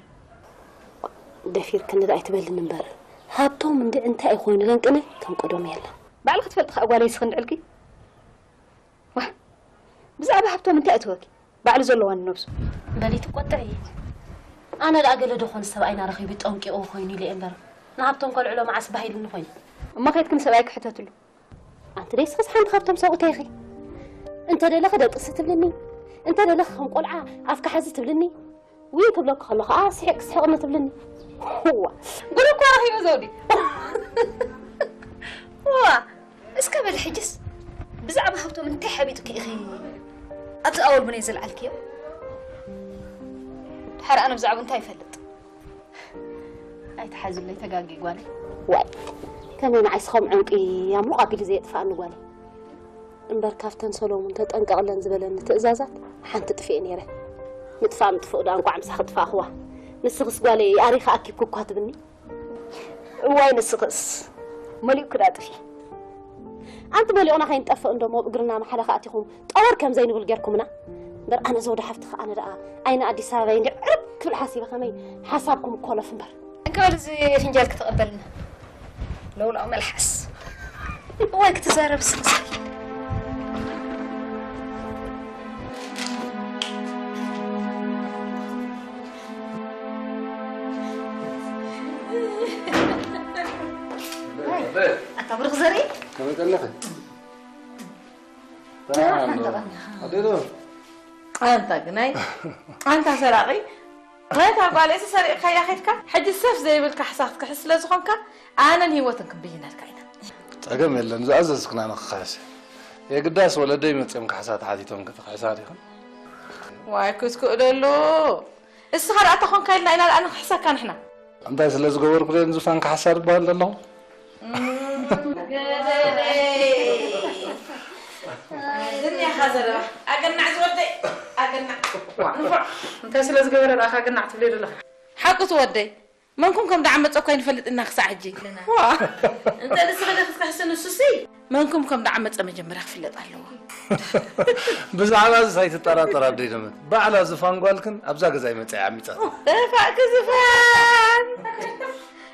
ደፊርክኒ ደኣ ኣይትበልኒ እምበር፣ ሃብቶም እንዲ እንታይ እዩ ኮይኑ ለንቅነ ከም ቀደሙ የለን። ባዕልኺ ትፈልጢ ከኣ ጓለይ ስኽንድዕልኪ። ዋ፣ ብዛዕባ ሃብቶም እንታይ እትወኪ? ባዕሉ ዘለዋኒ ነብሱ። በሊ ትቆጥዒ። ኣነ ደኣ ገለ ዶ ኾን ሰብኣይና ረኺቡ ጠንቂቑ ኮይኑ ኢለ እየ እምበር፣ ንሃብቶም ከልዕሎ መዓስ ባህ ኢሉኒ ኮይኑ። እሞ ከይድኪ ንሰብኣይኪ ሕተትሉ። ኣንቲ ደይ ስኽስ ሓንቲ ካብቶም ሰብኡተይ ኢኺ። እንተ ደለኺ ደቅሲ ትብልኒ፣ እንተ ደለኺ ከም ቆልዓ ኣፍካ ሓዚ ትብልኒ። ውይ ክብለኪ ከሎ ኸኣ ስሒቕ ስሒቕኒ ትብልኒ። ዋ፣ ጉድ እኮ ረኺበ ዘውዲ። ዋ፣ እስከ በሊ ሕጅስ ብዛዕባ ሃብቶም እንታይ ሓቢጡኪ ኢኺ ኣብዚ ኣወል ቡነይ ዘልዓልክዮ? ድሓር ኣነ ብዛዕባ እንታይ ይፈልጥ? ኣይትሓዝለይ ተጋጊ ጓለይ። ዋይ፣ ከመይ ንዓይስ ከም ዕንቂ ያሙቕ ኣቢሉ ዘየጥፍኣኒ ጓለይ። እምበር ካብተን ሰሎሙን ተጠንቀቕለን ዝበለኒ ትእዛዛት ሓንቲ ጥፍኤ ነይረ። ምጥፋእ ምጥፍኡ ደኣ እንቋዕ ምሳኺ ጥፋእኽዋ። ንስኽስ ጓለይ ኣሪኻ ኣኪብኪ እኳ ትብኒ። እዋይ ንስኽስ መሊኡኪ ደኣ ጥፊ። ኣንቲ መሊኦና ከይንጠፍእ እንዶ ሞብ እግርና መሓለኻ ኣቲኹም ጠወር ከም ዘይንብል ጌርኩምና። እምበር ኣነ ዘውዲ ሓፍትኺ ኣነ ደኣ ዓይኒ ኣዲስ ኣበባ እንዲ ዕርብ ክብል ሓሲበ ከመይ ሓሳብኩም ኮለፍ እምበር። እንካል እዚ ፍንጃል ክትቐበልና ለውላው መልሓስ። እዋይ ክትዛረብ ስኽስኪ። ኣታ ብሩኽ ዘርኢ። ከመይ ቀኒኺ? ኣንታ ግናይ፣ ኣንታ ሰራቒ። ነታ ጓለይሲ ሰሪቕካያ ኸይድካ፣ ሕጂ ሰፍ ዘይብል ካሕሳ ክትክሕስ ስለ ዝኾንካ፣ ኣነን ህይወትን ክንብይነልካ ኢና። ጸገም የለን፣ ዝኣዘዝክና ንኽኽሕስ። የግዳስ ወለደይ መጺኦም ካሕሳ ተሓቲቶም ክትኽሕሳ ዲኽን? ዋይ ክትክእለሉ። እስኻ ደኣ ተኾንካ ኢልና ኢና ደኣ ንኽሕሰካ ንሕና። እንታይ ስለ ዝገበርኩ ደን ዝፋን ካሕሳ ዝበሃል ዘለኹ? እም፣ ገደለይ። ዝኒኻ ዘረባ። ኣገናዕ ዝወደይ፣ ኣገናዕ። ዋ፣ ንፉዕ። እንታይ ስለ ዝገበረ ደኣ ካገናዕ ትብለይ ዘለኻ? ሓቁ ትወደይ። መንኩም ከም ደኣ መጸኳ ይንፈልጥ እና ክሳዕ ሕጂ። ዋ። እንተ ንስኺ ዶ ክትክሕሲ ንሱሲ? መንኩም ከም ደዓመጸ መጀመርያ ክፍለጥ ኣለዎ። ብዛዕባ እዚ ኣይትጠራጠር ኣደይ ደመት። ባዕላ ዝፋን ጓልክን ኣብዛ ገዛ ይመጽኣ ዓሚጻት። እፋእኪ ዝፋን።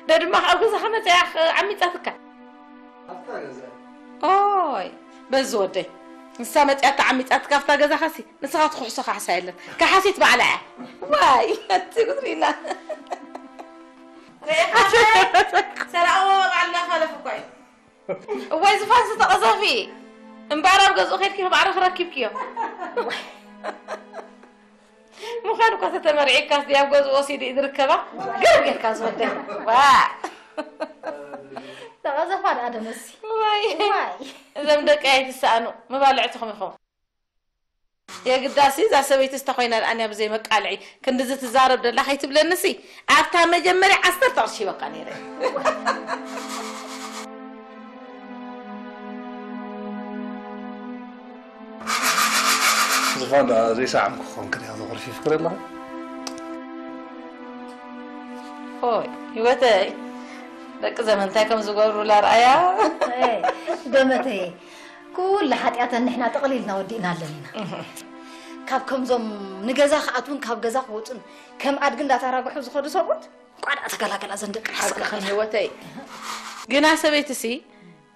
ደድማ ኣብ ገዛኻ መጽኣ ዓሚጻትካ። ኦይ፣ በዚ ወደይ። ንሳ መጽኣታ ዓሚጻትካ ኣብታ ገዛኻሲ፣ ንስኻ ትኩሕሶ ካሕሳ የለን። ካሓሲት ባዕላ እያ። ዋይ፣ እቲ ጉድሪና። ሰራዎ ባዕልና ኻለፍ እኮ እዩ። እዋይ ዝፋን ዝተቐዘፊ እምበኣር ኣብ ገዝኡ ኸይድኪ ማዕረ ክረኪብክዮ። ምዃን እኳ ተተመርዒካስ ድያብ ገዝኡ ወሲዱ እዩ ዝርከባ። ገር ጌርካ ዝወደይ። ዋ። ተቐዘፋ ደኣ ደመሲ። ዋይ። ዋይ። እዞም ደቂ ኣይትሰኣኑ፣ መባልዕትኹም ኢኹም። የግዳሲ እዛ ሰበይቲ ስታ ኮይና ደኣ እያ ብዘይ መቃልዒ ክንድዚ ትዛረብ ደላ ከይትብለንሲ ኣብታ መጀመርያ ዓሰርተ ቅርሺ ሂበካ ነይረ። ዝፋን ደኣ ዘይሰዓምኩ ክኾንክ ዲኻ ዘኹርፊ ፍክር ኣለኻ? ኦይ ህይወተይ ደቂ ዘመን እንታይ ከም ዝገብሩላ ርኣያ። ደመተይ ኩሉ ሓጢኣተን ንሕና ጥቕሊልና ወዲእናለን ኢና። ካብ ከምዞም ንገዛ ክኣትውን ካብ ገዛ ክወፁን ከም ኣድጊ እንዳተራግሑ ዝኸዱ ሰብኡት ቋዳ ተገላገላ ዘን ደቂ ሓቂ ከም ህይወተይ ግና ሰበይትሲ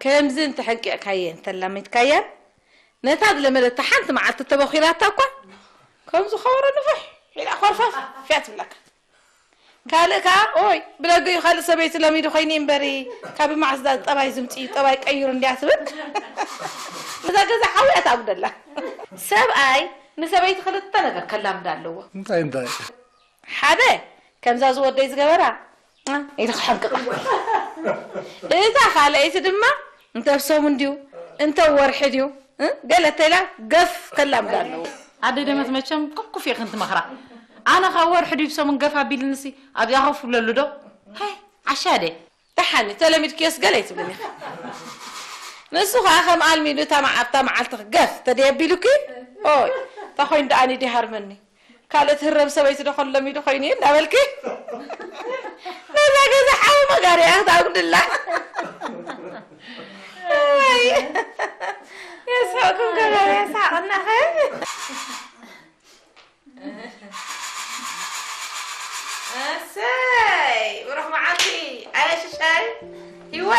ከምዚ እንተሐንቂቕካየን እንተላሚድካያን ነታ ዝለመደታ ሓንቲ መዓልቲ ተበኺላታ እኳ ከም ዝኸበሮ ንፍሕ ኢላ ኮርፈፍ ፍያ ትብለካ። ካልእ ከኣ ኦይ ብደገ እዩ ካልእ ሰበይቲ ለሚዱ ኮይኒ እምበሪ ካብ ማዕስዳ ጠባይ ዝምፅእ እዩ ጠባይ ቀይሩ እንድያ ትብል። ነዛ ገዛ ሓውያ ታጉደላ። ሰብኣይ ንሰበይቲ ክልተ ነገር ከላምዳ ኣለዎ። እንታይ እንታይ? ሓደ ከምዛ ዝወደይ ዝገበራ ኢሉ ክሓንቅቕ። እታ ካልኣይቲ ድማ እንተ ኣብ ሰሙን ድዩ እንተ ወርሒ ድዩ ገለ ተላ ገፍ ከላምዳ ኣለዎ። ኣደ ደመት መቸም ኩኩፍ ኢኽን ትመኽራ። ኣነ ካብ ወርሒ ድዩ ሰሙን ገፍ ኣቢልንሲ ኣብዚኣ ኮፍ ብለሉ ዶ? ሀይ ዓሻ ደ። ደሓኒ ተለሚድክዮስ ገለ ኣይትብልን ኢኺ። ንሱ ኸዓ ከም ኣልሚዱ እታ መዓ- ኣብታ መዓልቲ ገፍ ተደየቢሉኪ ኦይ እታ ኮይን ደኣ ኣነ ይሃርመኒ። ካልእ ትህረም ሰበይቲ ዶ ከሎ ሚዶ ኮይኑ እዩ እንዳበልኪ ነዛ ገዛ ሓዊ መጋርያ ክትኣጉድላ። ኣይ፣ የስሕቕኩም ገበረ የስሓቐናኸ። እሰይ ብሩኽ መዓልቲ ኣየ ሽሻይ። ይወ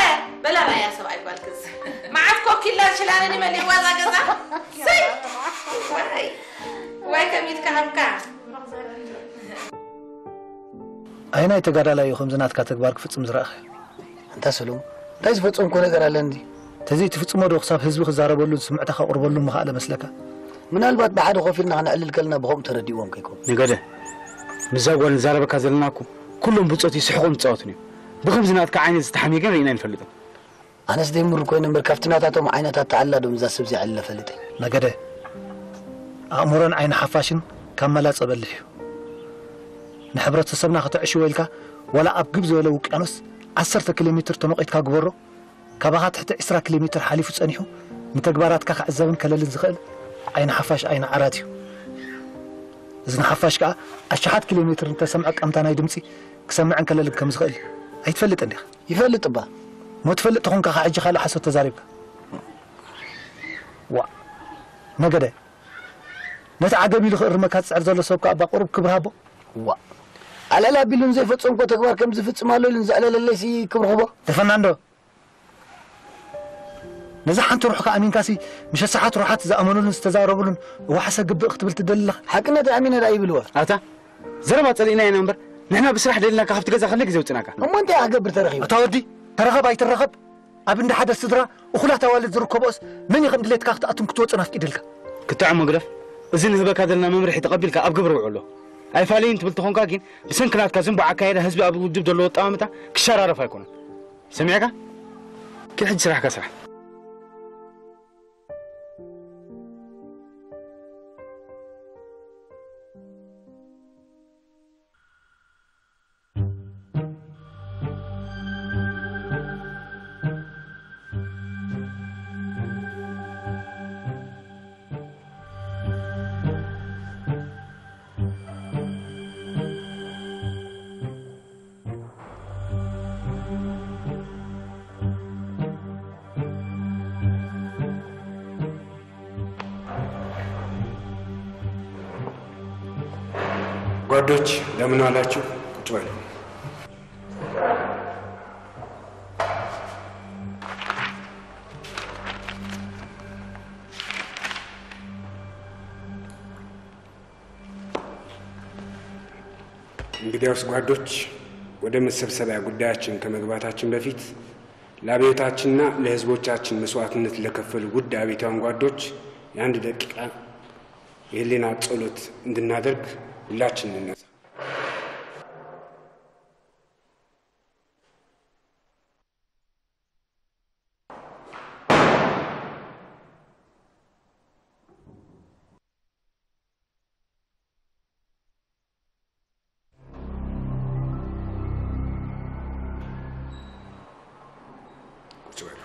በላ ራያ ሰብኣይ ጓልክስ መዓት ኮኪላን ሽላንን ይመልእዋ እዛ ገዛ። ሰይ ዋይ ዋይ ከሚት ከሃብካ። ኣይናይ ተጋዳላይ እዩ ከምዚ ናትካ ተግባር ክፍጽም ዝረኣኸ? ኣንታ ሰለሙ እንታይ ዝፈጸምኮ ነገር ኣለ እንዲ? ተዘይትፍጽሞ ዶ ክሳብ ህዝቢ ክዛረበሉን ስምዕታ ከቕርበሉን ምኽኣለ መስለካ? ምናልባት ብሓደ ኮፍ ኢልና ክነዕልል ከለና ብኸምኡ ተረዲእዎም ከይኮኑ። ነገደ፣ ምስዛ ጓል ንዛረበካ ዘለና እኮ ኩሎም ብጾት ይስሕቑን ይጻወቱን እዮም። ብኸምዚ ናትካ ዓይነት ዝተሓምየ ግን ርኢና ኣይንፈልጥን። ኣነስ ደይምር ኮይነ እምበር ካብቲ ናታቶም ዓይነት ኣተዓልላ ዶ ምዛ ሰብ ዚዓልለ ፈልጠ። ነገደ፣ ኣእምሮን ዓይኒ ሓፋሽን ካብ መላጸ በልሕ እዩ። ንሕብረተሰብና ከተዕሽዎ ኢልካ ዋላ ኣብ ግብ ዝበለ ውቅያኖስ ዓሰርተ ኪሎ ሜትር ተመቒትካ ግበሮ፣ ካባኻ ትሕቲ ዕስራ ኪሎ ሜትር ሓሊፉ ጸኒሑ ንተግባራትካ ክዕዘብን ከለልን ዝኽእል ዓይኒ ሓፋሽ ዓይኒ ዓራት እዩ። እዚ ንሓፋሽ ከኣ ኣሽሓት ኪሎ ሜትር እንተሰምዐ ቀምታ ናይ ድምጺ ክሰምዕን ከለልን ከም ዝኽእል ኣይትፈልጥን ዲኻ? ይፈልጥ እባ። እሞ ትፈልጥ ተኾንካ ካብ ሕጂ ካልእ ሓሶት ተዛሪብካ። ዋ ነገደ ነቲ ዓገብ ኢሉ ክእርመካ ዝጽዕር ዘሎ ሰብ ከኣ እባ ቁሩብ ክብሪ ሃቦ። ዋ ኣልዕል ኣቢሉ ንዘይፈጸምኮ ተግባር ከም ዝፍጽም ኣሎ ኢሉ ንዘዕለለለይሲ ክብሪ ክቦ። ደፈናንዶ ነዛ ሓንቲ ሩሕካ ኣሚንካሲ ምሸት ሰዓት ሩሓት ዝኣመኑሉን ዝተዛረቡሉን እዋሓሰ ግብእ ክትብል ትደሊ ኣለኻ? ሓቅነት ኣሚነ ደኣ ይብልዎ። ኣታ ዘረባ ጸሊእና ኢና እምበር ንሕና ብስራሕ ደሊና ካብቲ ገዛ ክንደይ ግዜ ውጽናካ? እሞ እንታይ ክገብር ተረኺቡ? ኣታ ወዲ ተረኸብ ኣይትረኸብ ኣብ እንዳ ሓደ ስድራ እኹላት ኣዋልድ ዝርከብኦስ መን እዩ ከም ድሌትካ ክትኣቱን ክትወጽን ኣፍቂድልካ? ክትዕሞ ግደፍ። እዚ ንህበካ ዘለና መምርሒ ተቐቢልካ ኣብ ግብሪ ውዕሎ። ኣይፋለይን ትብል ተኾንካ ግን ብሰንኪ ናትካ ዝንቡዕ ኣካየዳ ህዝቢ ኣብ ውድብ ዘለዎ ኣጠማምታ ክሸራረፍ ኣይኮነን። ሰሚዕካ? ኪድ ሕጂ ስራሕካ ስራሕ። ጓዶች እንደምን ዋላችሁ? ቁጭ በሉ። እንግዲያውስ ጓዶች፣ ወደ መሰብሰቢያ ጉዳያችን ከመግባታችን በፊት ለአብዮታችንና ለህዝቦቻችን መስዋዕትነት ለከፈሉ ውድ አብዮታውያን ጓዶች የአንድ ደቂቃ የህሊና ጸሎት እንድናደርግ ሁላችን እንነሳ። ቁጭ በሉ።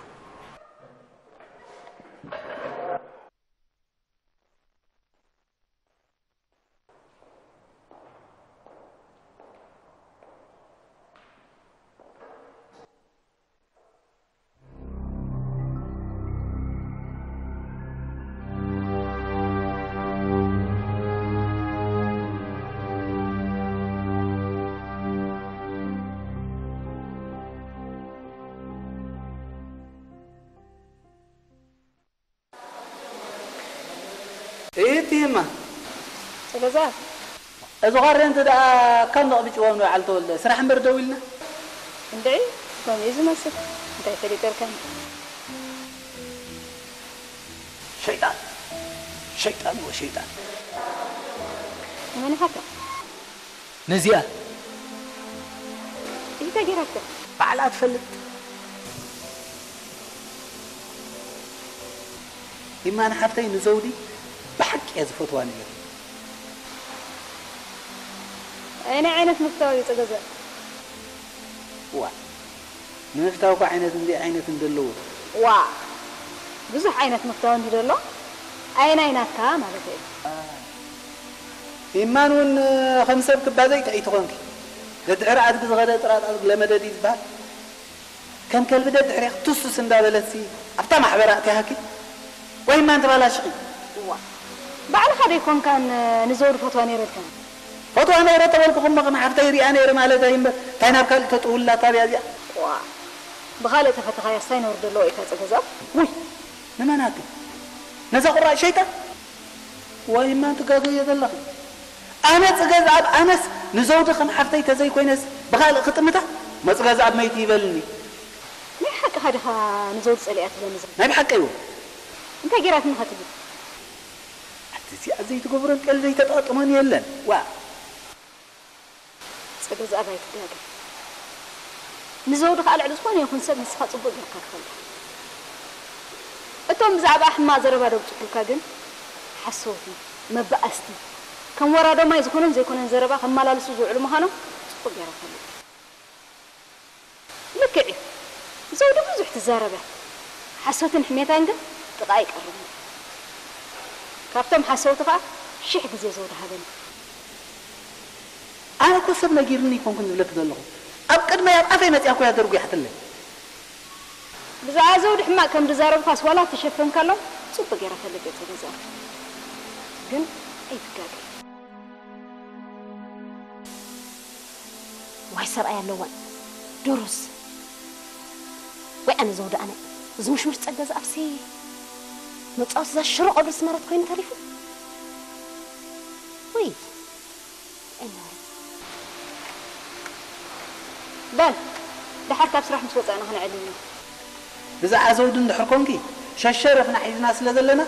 እትይማ። ስለዛ እዚ ቐሪ እንተ ደኣ ካብ ነቕብጭዎም ንበዓል ተወልደ ስራሕ እምበር ደው ኢልና። እንድዒ፣ ከምኡ እዩ ዝመስል። እንታይ ፈሊጠልካኒ? ሸይጣን፣ ሸይጣን ወ ሸይጣን። መን ኢኻ? ነዚኣ እንታይ ገይራቶ? ባዕላ ትፈልጥ። ይማን ሓፍተይ ንዘውዲ ብሓቂ እየ ዝፈትዋ ነይረ። ኣየናይ ዓይነት ምፍታው እዩ ጸገዛ? ዋ፣ ንምፍታው እኮ ዓይነት እንዲ ዓይነት እንደለዎ። ዋ፣ ብዙሕ ዓይነት ምፍታው እንዲ ደሎ፣ ኣየናይ ናትካ ማለት እዩ? ይማን እውን ከም ሰብ ክባዘይ ጥዕይቲ ኾንኪ። ደድሕሪ ኣድጊ ዝኸደ ጥራጣ ዝለመደ ድዩ ዝበሃል? ከም ከልቢ ደድሕሬኽ ቱሱስ እንዳበለትሲ ኣብታ ማሕበር ኣእቲያኪ? ወይ እማ እንተባላሽኺ? እዋ፣ ባዕልኻ ዶ ኣይኮንካን ንዘውዲ ፈትዋ ነይረ ኢልካኒ? ፈትዋ ነይረ ተበልኩኹ እሞ ከም ሓፍተይ ሪኣ ነይረ ማለተይ እምበር፣ እንታይ ናብ ካልእ ተጥውላ ታብያ እዚኣ? እዋ፣ ብኻልእ ተፈተኻያስ እንታይ ነውሪ ዘለዎ እዩ እታ ጸገዛ? ውይ፣ ንመን ኣቲ? ነዛ ቁራጭ ሸይጣን? ወይ እማ ትጋገየ ዘለኺ? ኣነ ጽገዝኣብ፣ ኣነስ ንዘውዲ ከም ሓፍተይ ተዘይኮይነስ ብኻልእ ክጥምታ? መጽገዝኣብ መይቲ ይበልኒ። ናይ ሓቅኻ ዲኻ ንዘውዲ ጸሊኣ ትብለኒ ዘለኻ? ናይ ብሓቀይ እውን። እንታይ ገይራትኒ ኸ ትብል? ኣቲ እዚኣ ዘይትገብሮን ቀልደይ ተጣጥሞን የለን። ዋ። ጸገዝኣብ ኣይትጋገ። ንዘውዲ ከኣ ልዕሊ ዝኾነ ይኹን ሰብ ንስኻ ጽቡቕ ጌርካ ትፈልጣ። እቶም ብዛዕባ ሕማቕ ዘረባ ደብጽሑልካ ግን ሓሰውቲ፣ መባኣስቲ፣ ከም ወራዶ ማይ ዝኾነን ዘይኮነን ዘረባ ከመላልሱ ዝውዕሉ ምዃኖም ጽቡቕ ጌራ ትፈልጥ። ልክዕ እዩ። ዘውዲ ብዙሕ ትዛረብ እያ። ሓሶትን ሕሜታን ግን ጥቓ ኣይቀርብን። ካብቶም ሓሰውቲ ኸኣ ሽሕ ግዜ ዘውዲ ሃበኒ። ኣነ እኮ ሰብ ነጊርኒ ኣይኮንኩን ዝብለኪ ዘለኹ። ኣብ ቅድመይ ኣብ ኣፈይ መጺኣ እኮ እያ ደርጒሓትለይ። ብዛዕባ ዘውዲ ሕማቕ ከም ዝዛረብካስ ዋላ ተሸፈንካሎም ጽቡቕ ገይረ ፈልጥ እየ ጸገዛ። ግን ኣይትጋገ። ዋይ ሰብኣይ ኣለዋን ዶሮስ። ወይ ኣነ ዘውዲ ኣነ። እዚ ምሽምሽ ጸገ ዝኣፍሲ መጻወቲ እዛ ሽሮ ቆድሪ ስመረት ኮይኑ ተሪፉ። ወይ ኣይነበረ። በል፣ ደሓር ካብ ስራሕ ምስ ወጻእና ክንዕልል ኢና። ብዛዕባ ዘውዲ እንድሕር ኮንኪ፣ ሸሸረፍና ሒዝና ስለ ዘለና፣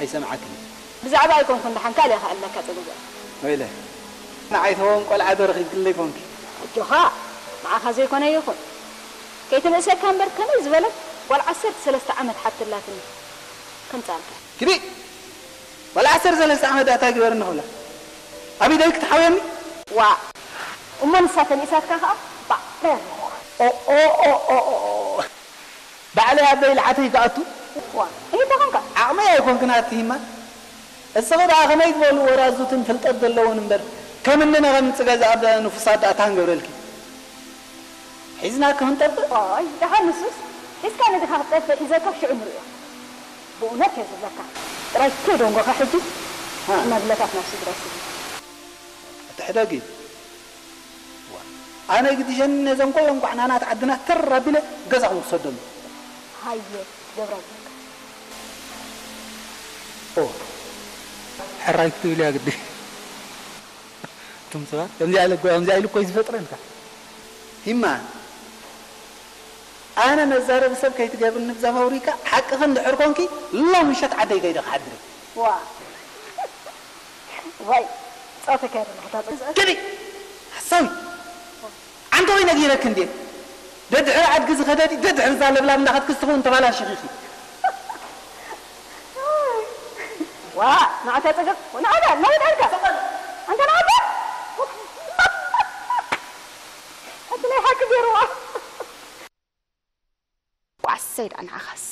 ኣይሰምዓክን። ብዛዕባ ኣይኮንኩን፣ ደሓን ካልእ እየ ክኣልለካ ጸገዛ። ወይለ፣ ንዓይ ተወን ቆልዓ ዶ ረኺብክለይ ኮንኪ? ኣጆኻ፣ ንዓኻ ዘይኮነ ይኹን። ከይትንእሰካ እምበር፣ ከመይ ዝበለት ጓል ዓሰርተ ሰለስተ ዓመት ሓብቲ ኣላትኒ። ከምጻልካ። ኪዲ! ዋላ ዓሰርተ ሰለስተ ዓመት ደኣ እንታይ ግበርኒ ክብላ? ኣብ ኢደይ ክትሓውየኒ? ዋእ! እሞ ንሳ ተንኢሳትካ ከኣ ባዕለይ ኣለኹ። ኦ፣ ኦ፣ ኦ፣ ኦ፣ ኦ። ባዕለይ ኣበይ ልዓተይ ክኣቱ? ዋእ! እንታይ ኮንካ? ዓቕመይ ኣይኮንክን ኣቲ ሂማ። እስኺ ደኣ ከመይ ዝበሉ ወራዙትን ፍልጠት ዘለዎን እምበር፣ ከም እኒ ነቐምጽ ገዛ ኣብ ንፉሳት ደኣ እንታይ ክንገብረልኪ? ሒዝናኪ ክንጠፍእ? ዋይ፣ ደሓን ንሱስ ሒዝካኒ ዲኻ ክትጠፍእ? ሒዘካ ሽዑ ንርእዮ። ብእውነት እየ ዝብለካ። ጥራይ ከይደንጎኻ ሕጂ ሃ። ሽማግለታት ናብ ስድራ ይስጉ። ኣቲ ሕደግ እዩ። ዋ፣ ኣነ ግዲሸኒ ነዘን ኩለን ጓዕናናት ዓድና ተር ኣቢለ ገዛኹም ክሰዶም። ሃየ፣ ገብረ ኣምላክ። ኦ፣ ሕራይ ክትብል እያ ግዲ። እቶም ሰባት ከምዚኣ ኢለ እኮ፣ ከምዚኣ ኢሉ እኮ እዩ ዝፈጥረልካ። ሂማ፣ ኣነ መዛረቢ ሰብ ከይትገብርኒ ብዛ ፋብሪካ ሓቅኺ እንድሕር ኮንኪ፣ ሎም ምሸት ዓደይ ከይደ ክሓድር እየ። ዋ። ዋይ፣ ጸወታ ከይደ ናሕታ ጸወታ። ግዲ! ሓሳዊ! ዓንተ ወይ ነጊረክ እንዴ? ደድሕሪ ኣድጊ ዝኸደዲ፣ ደድሕሪ እዛ ለብላብ እንዳኸድኪ ዝኸውን ተባላሽኺ ኢኺ። ዋ፣ ንዓታ ጸገብ፣ ንዓታ፣ ናውድ ኣልካ። ኣንተ ንዓታ? እቲ ናይ ሓቂ ገይርዋ። ዋሰይ ደኣ ንዓኻስ።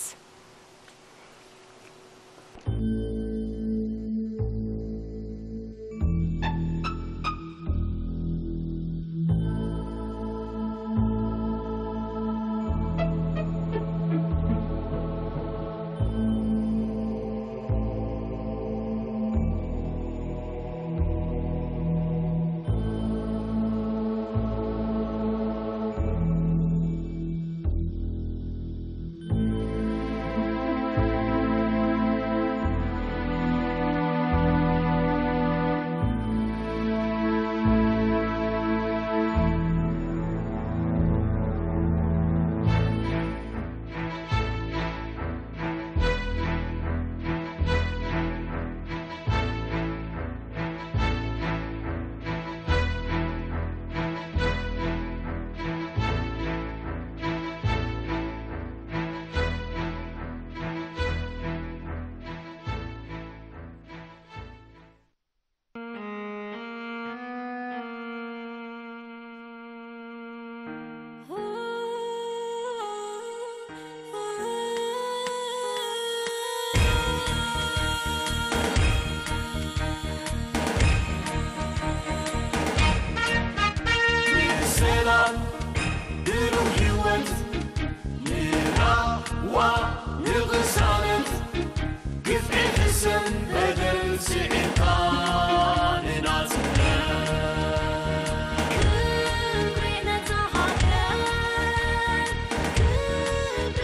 ሰላም፣ ብሩህ ህይወት፣ ንራህዋ፣ ንቕሳነት፣ ግፍዒ፣ ሕሰም፣ በደል ስዒርካ ንናጽነት። ክብሪ ነታ ሃገር፣ ክብሪ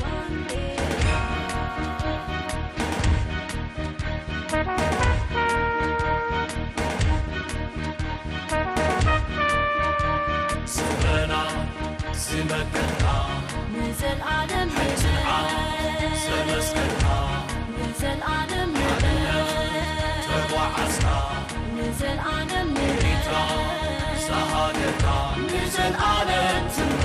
ባንዴራ። ስረና ዝመከትካ ንዘልኣለም ሓይትንዓ ንበር። ዘመስከርካ ንዘልኣለም ንበር። ሓድነት ተጓዓዝካ ንዘልኣለም ንበር። ኤርትራ ዝሃገርካ ንዘልኣለም ትንበር።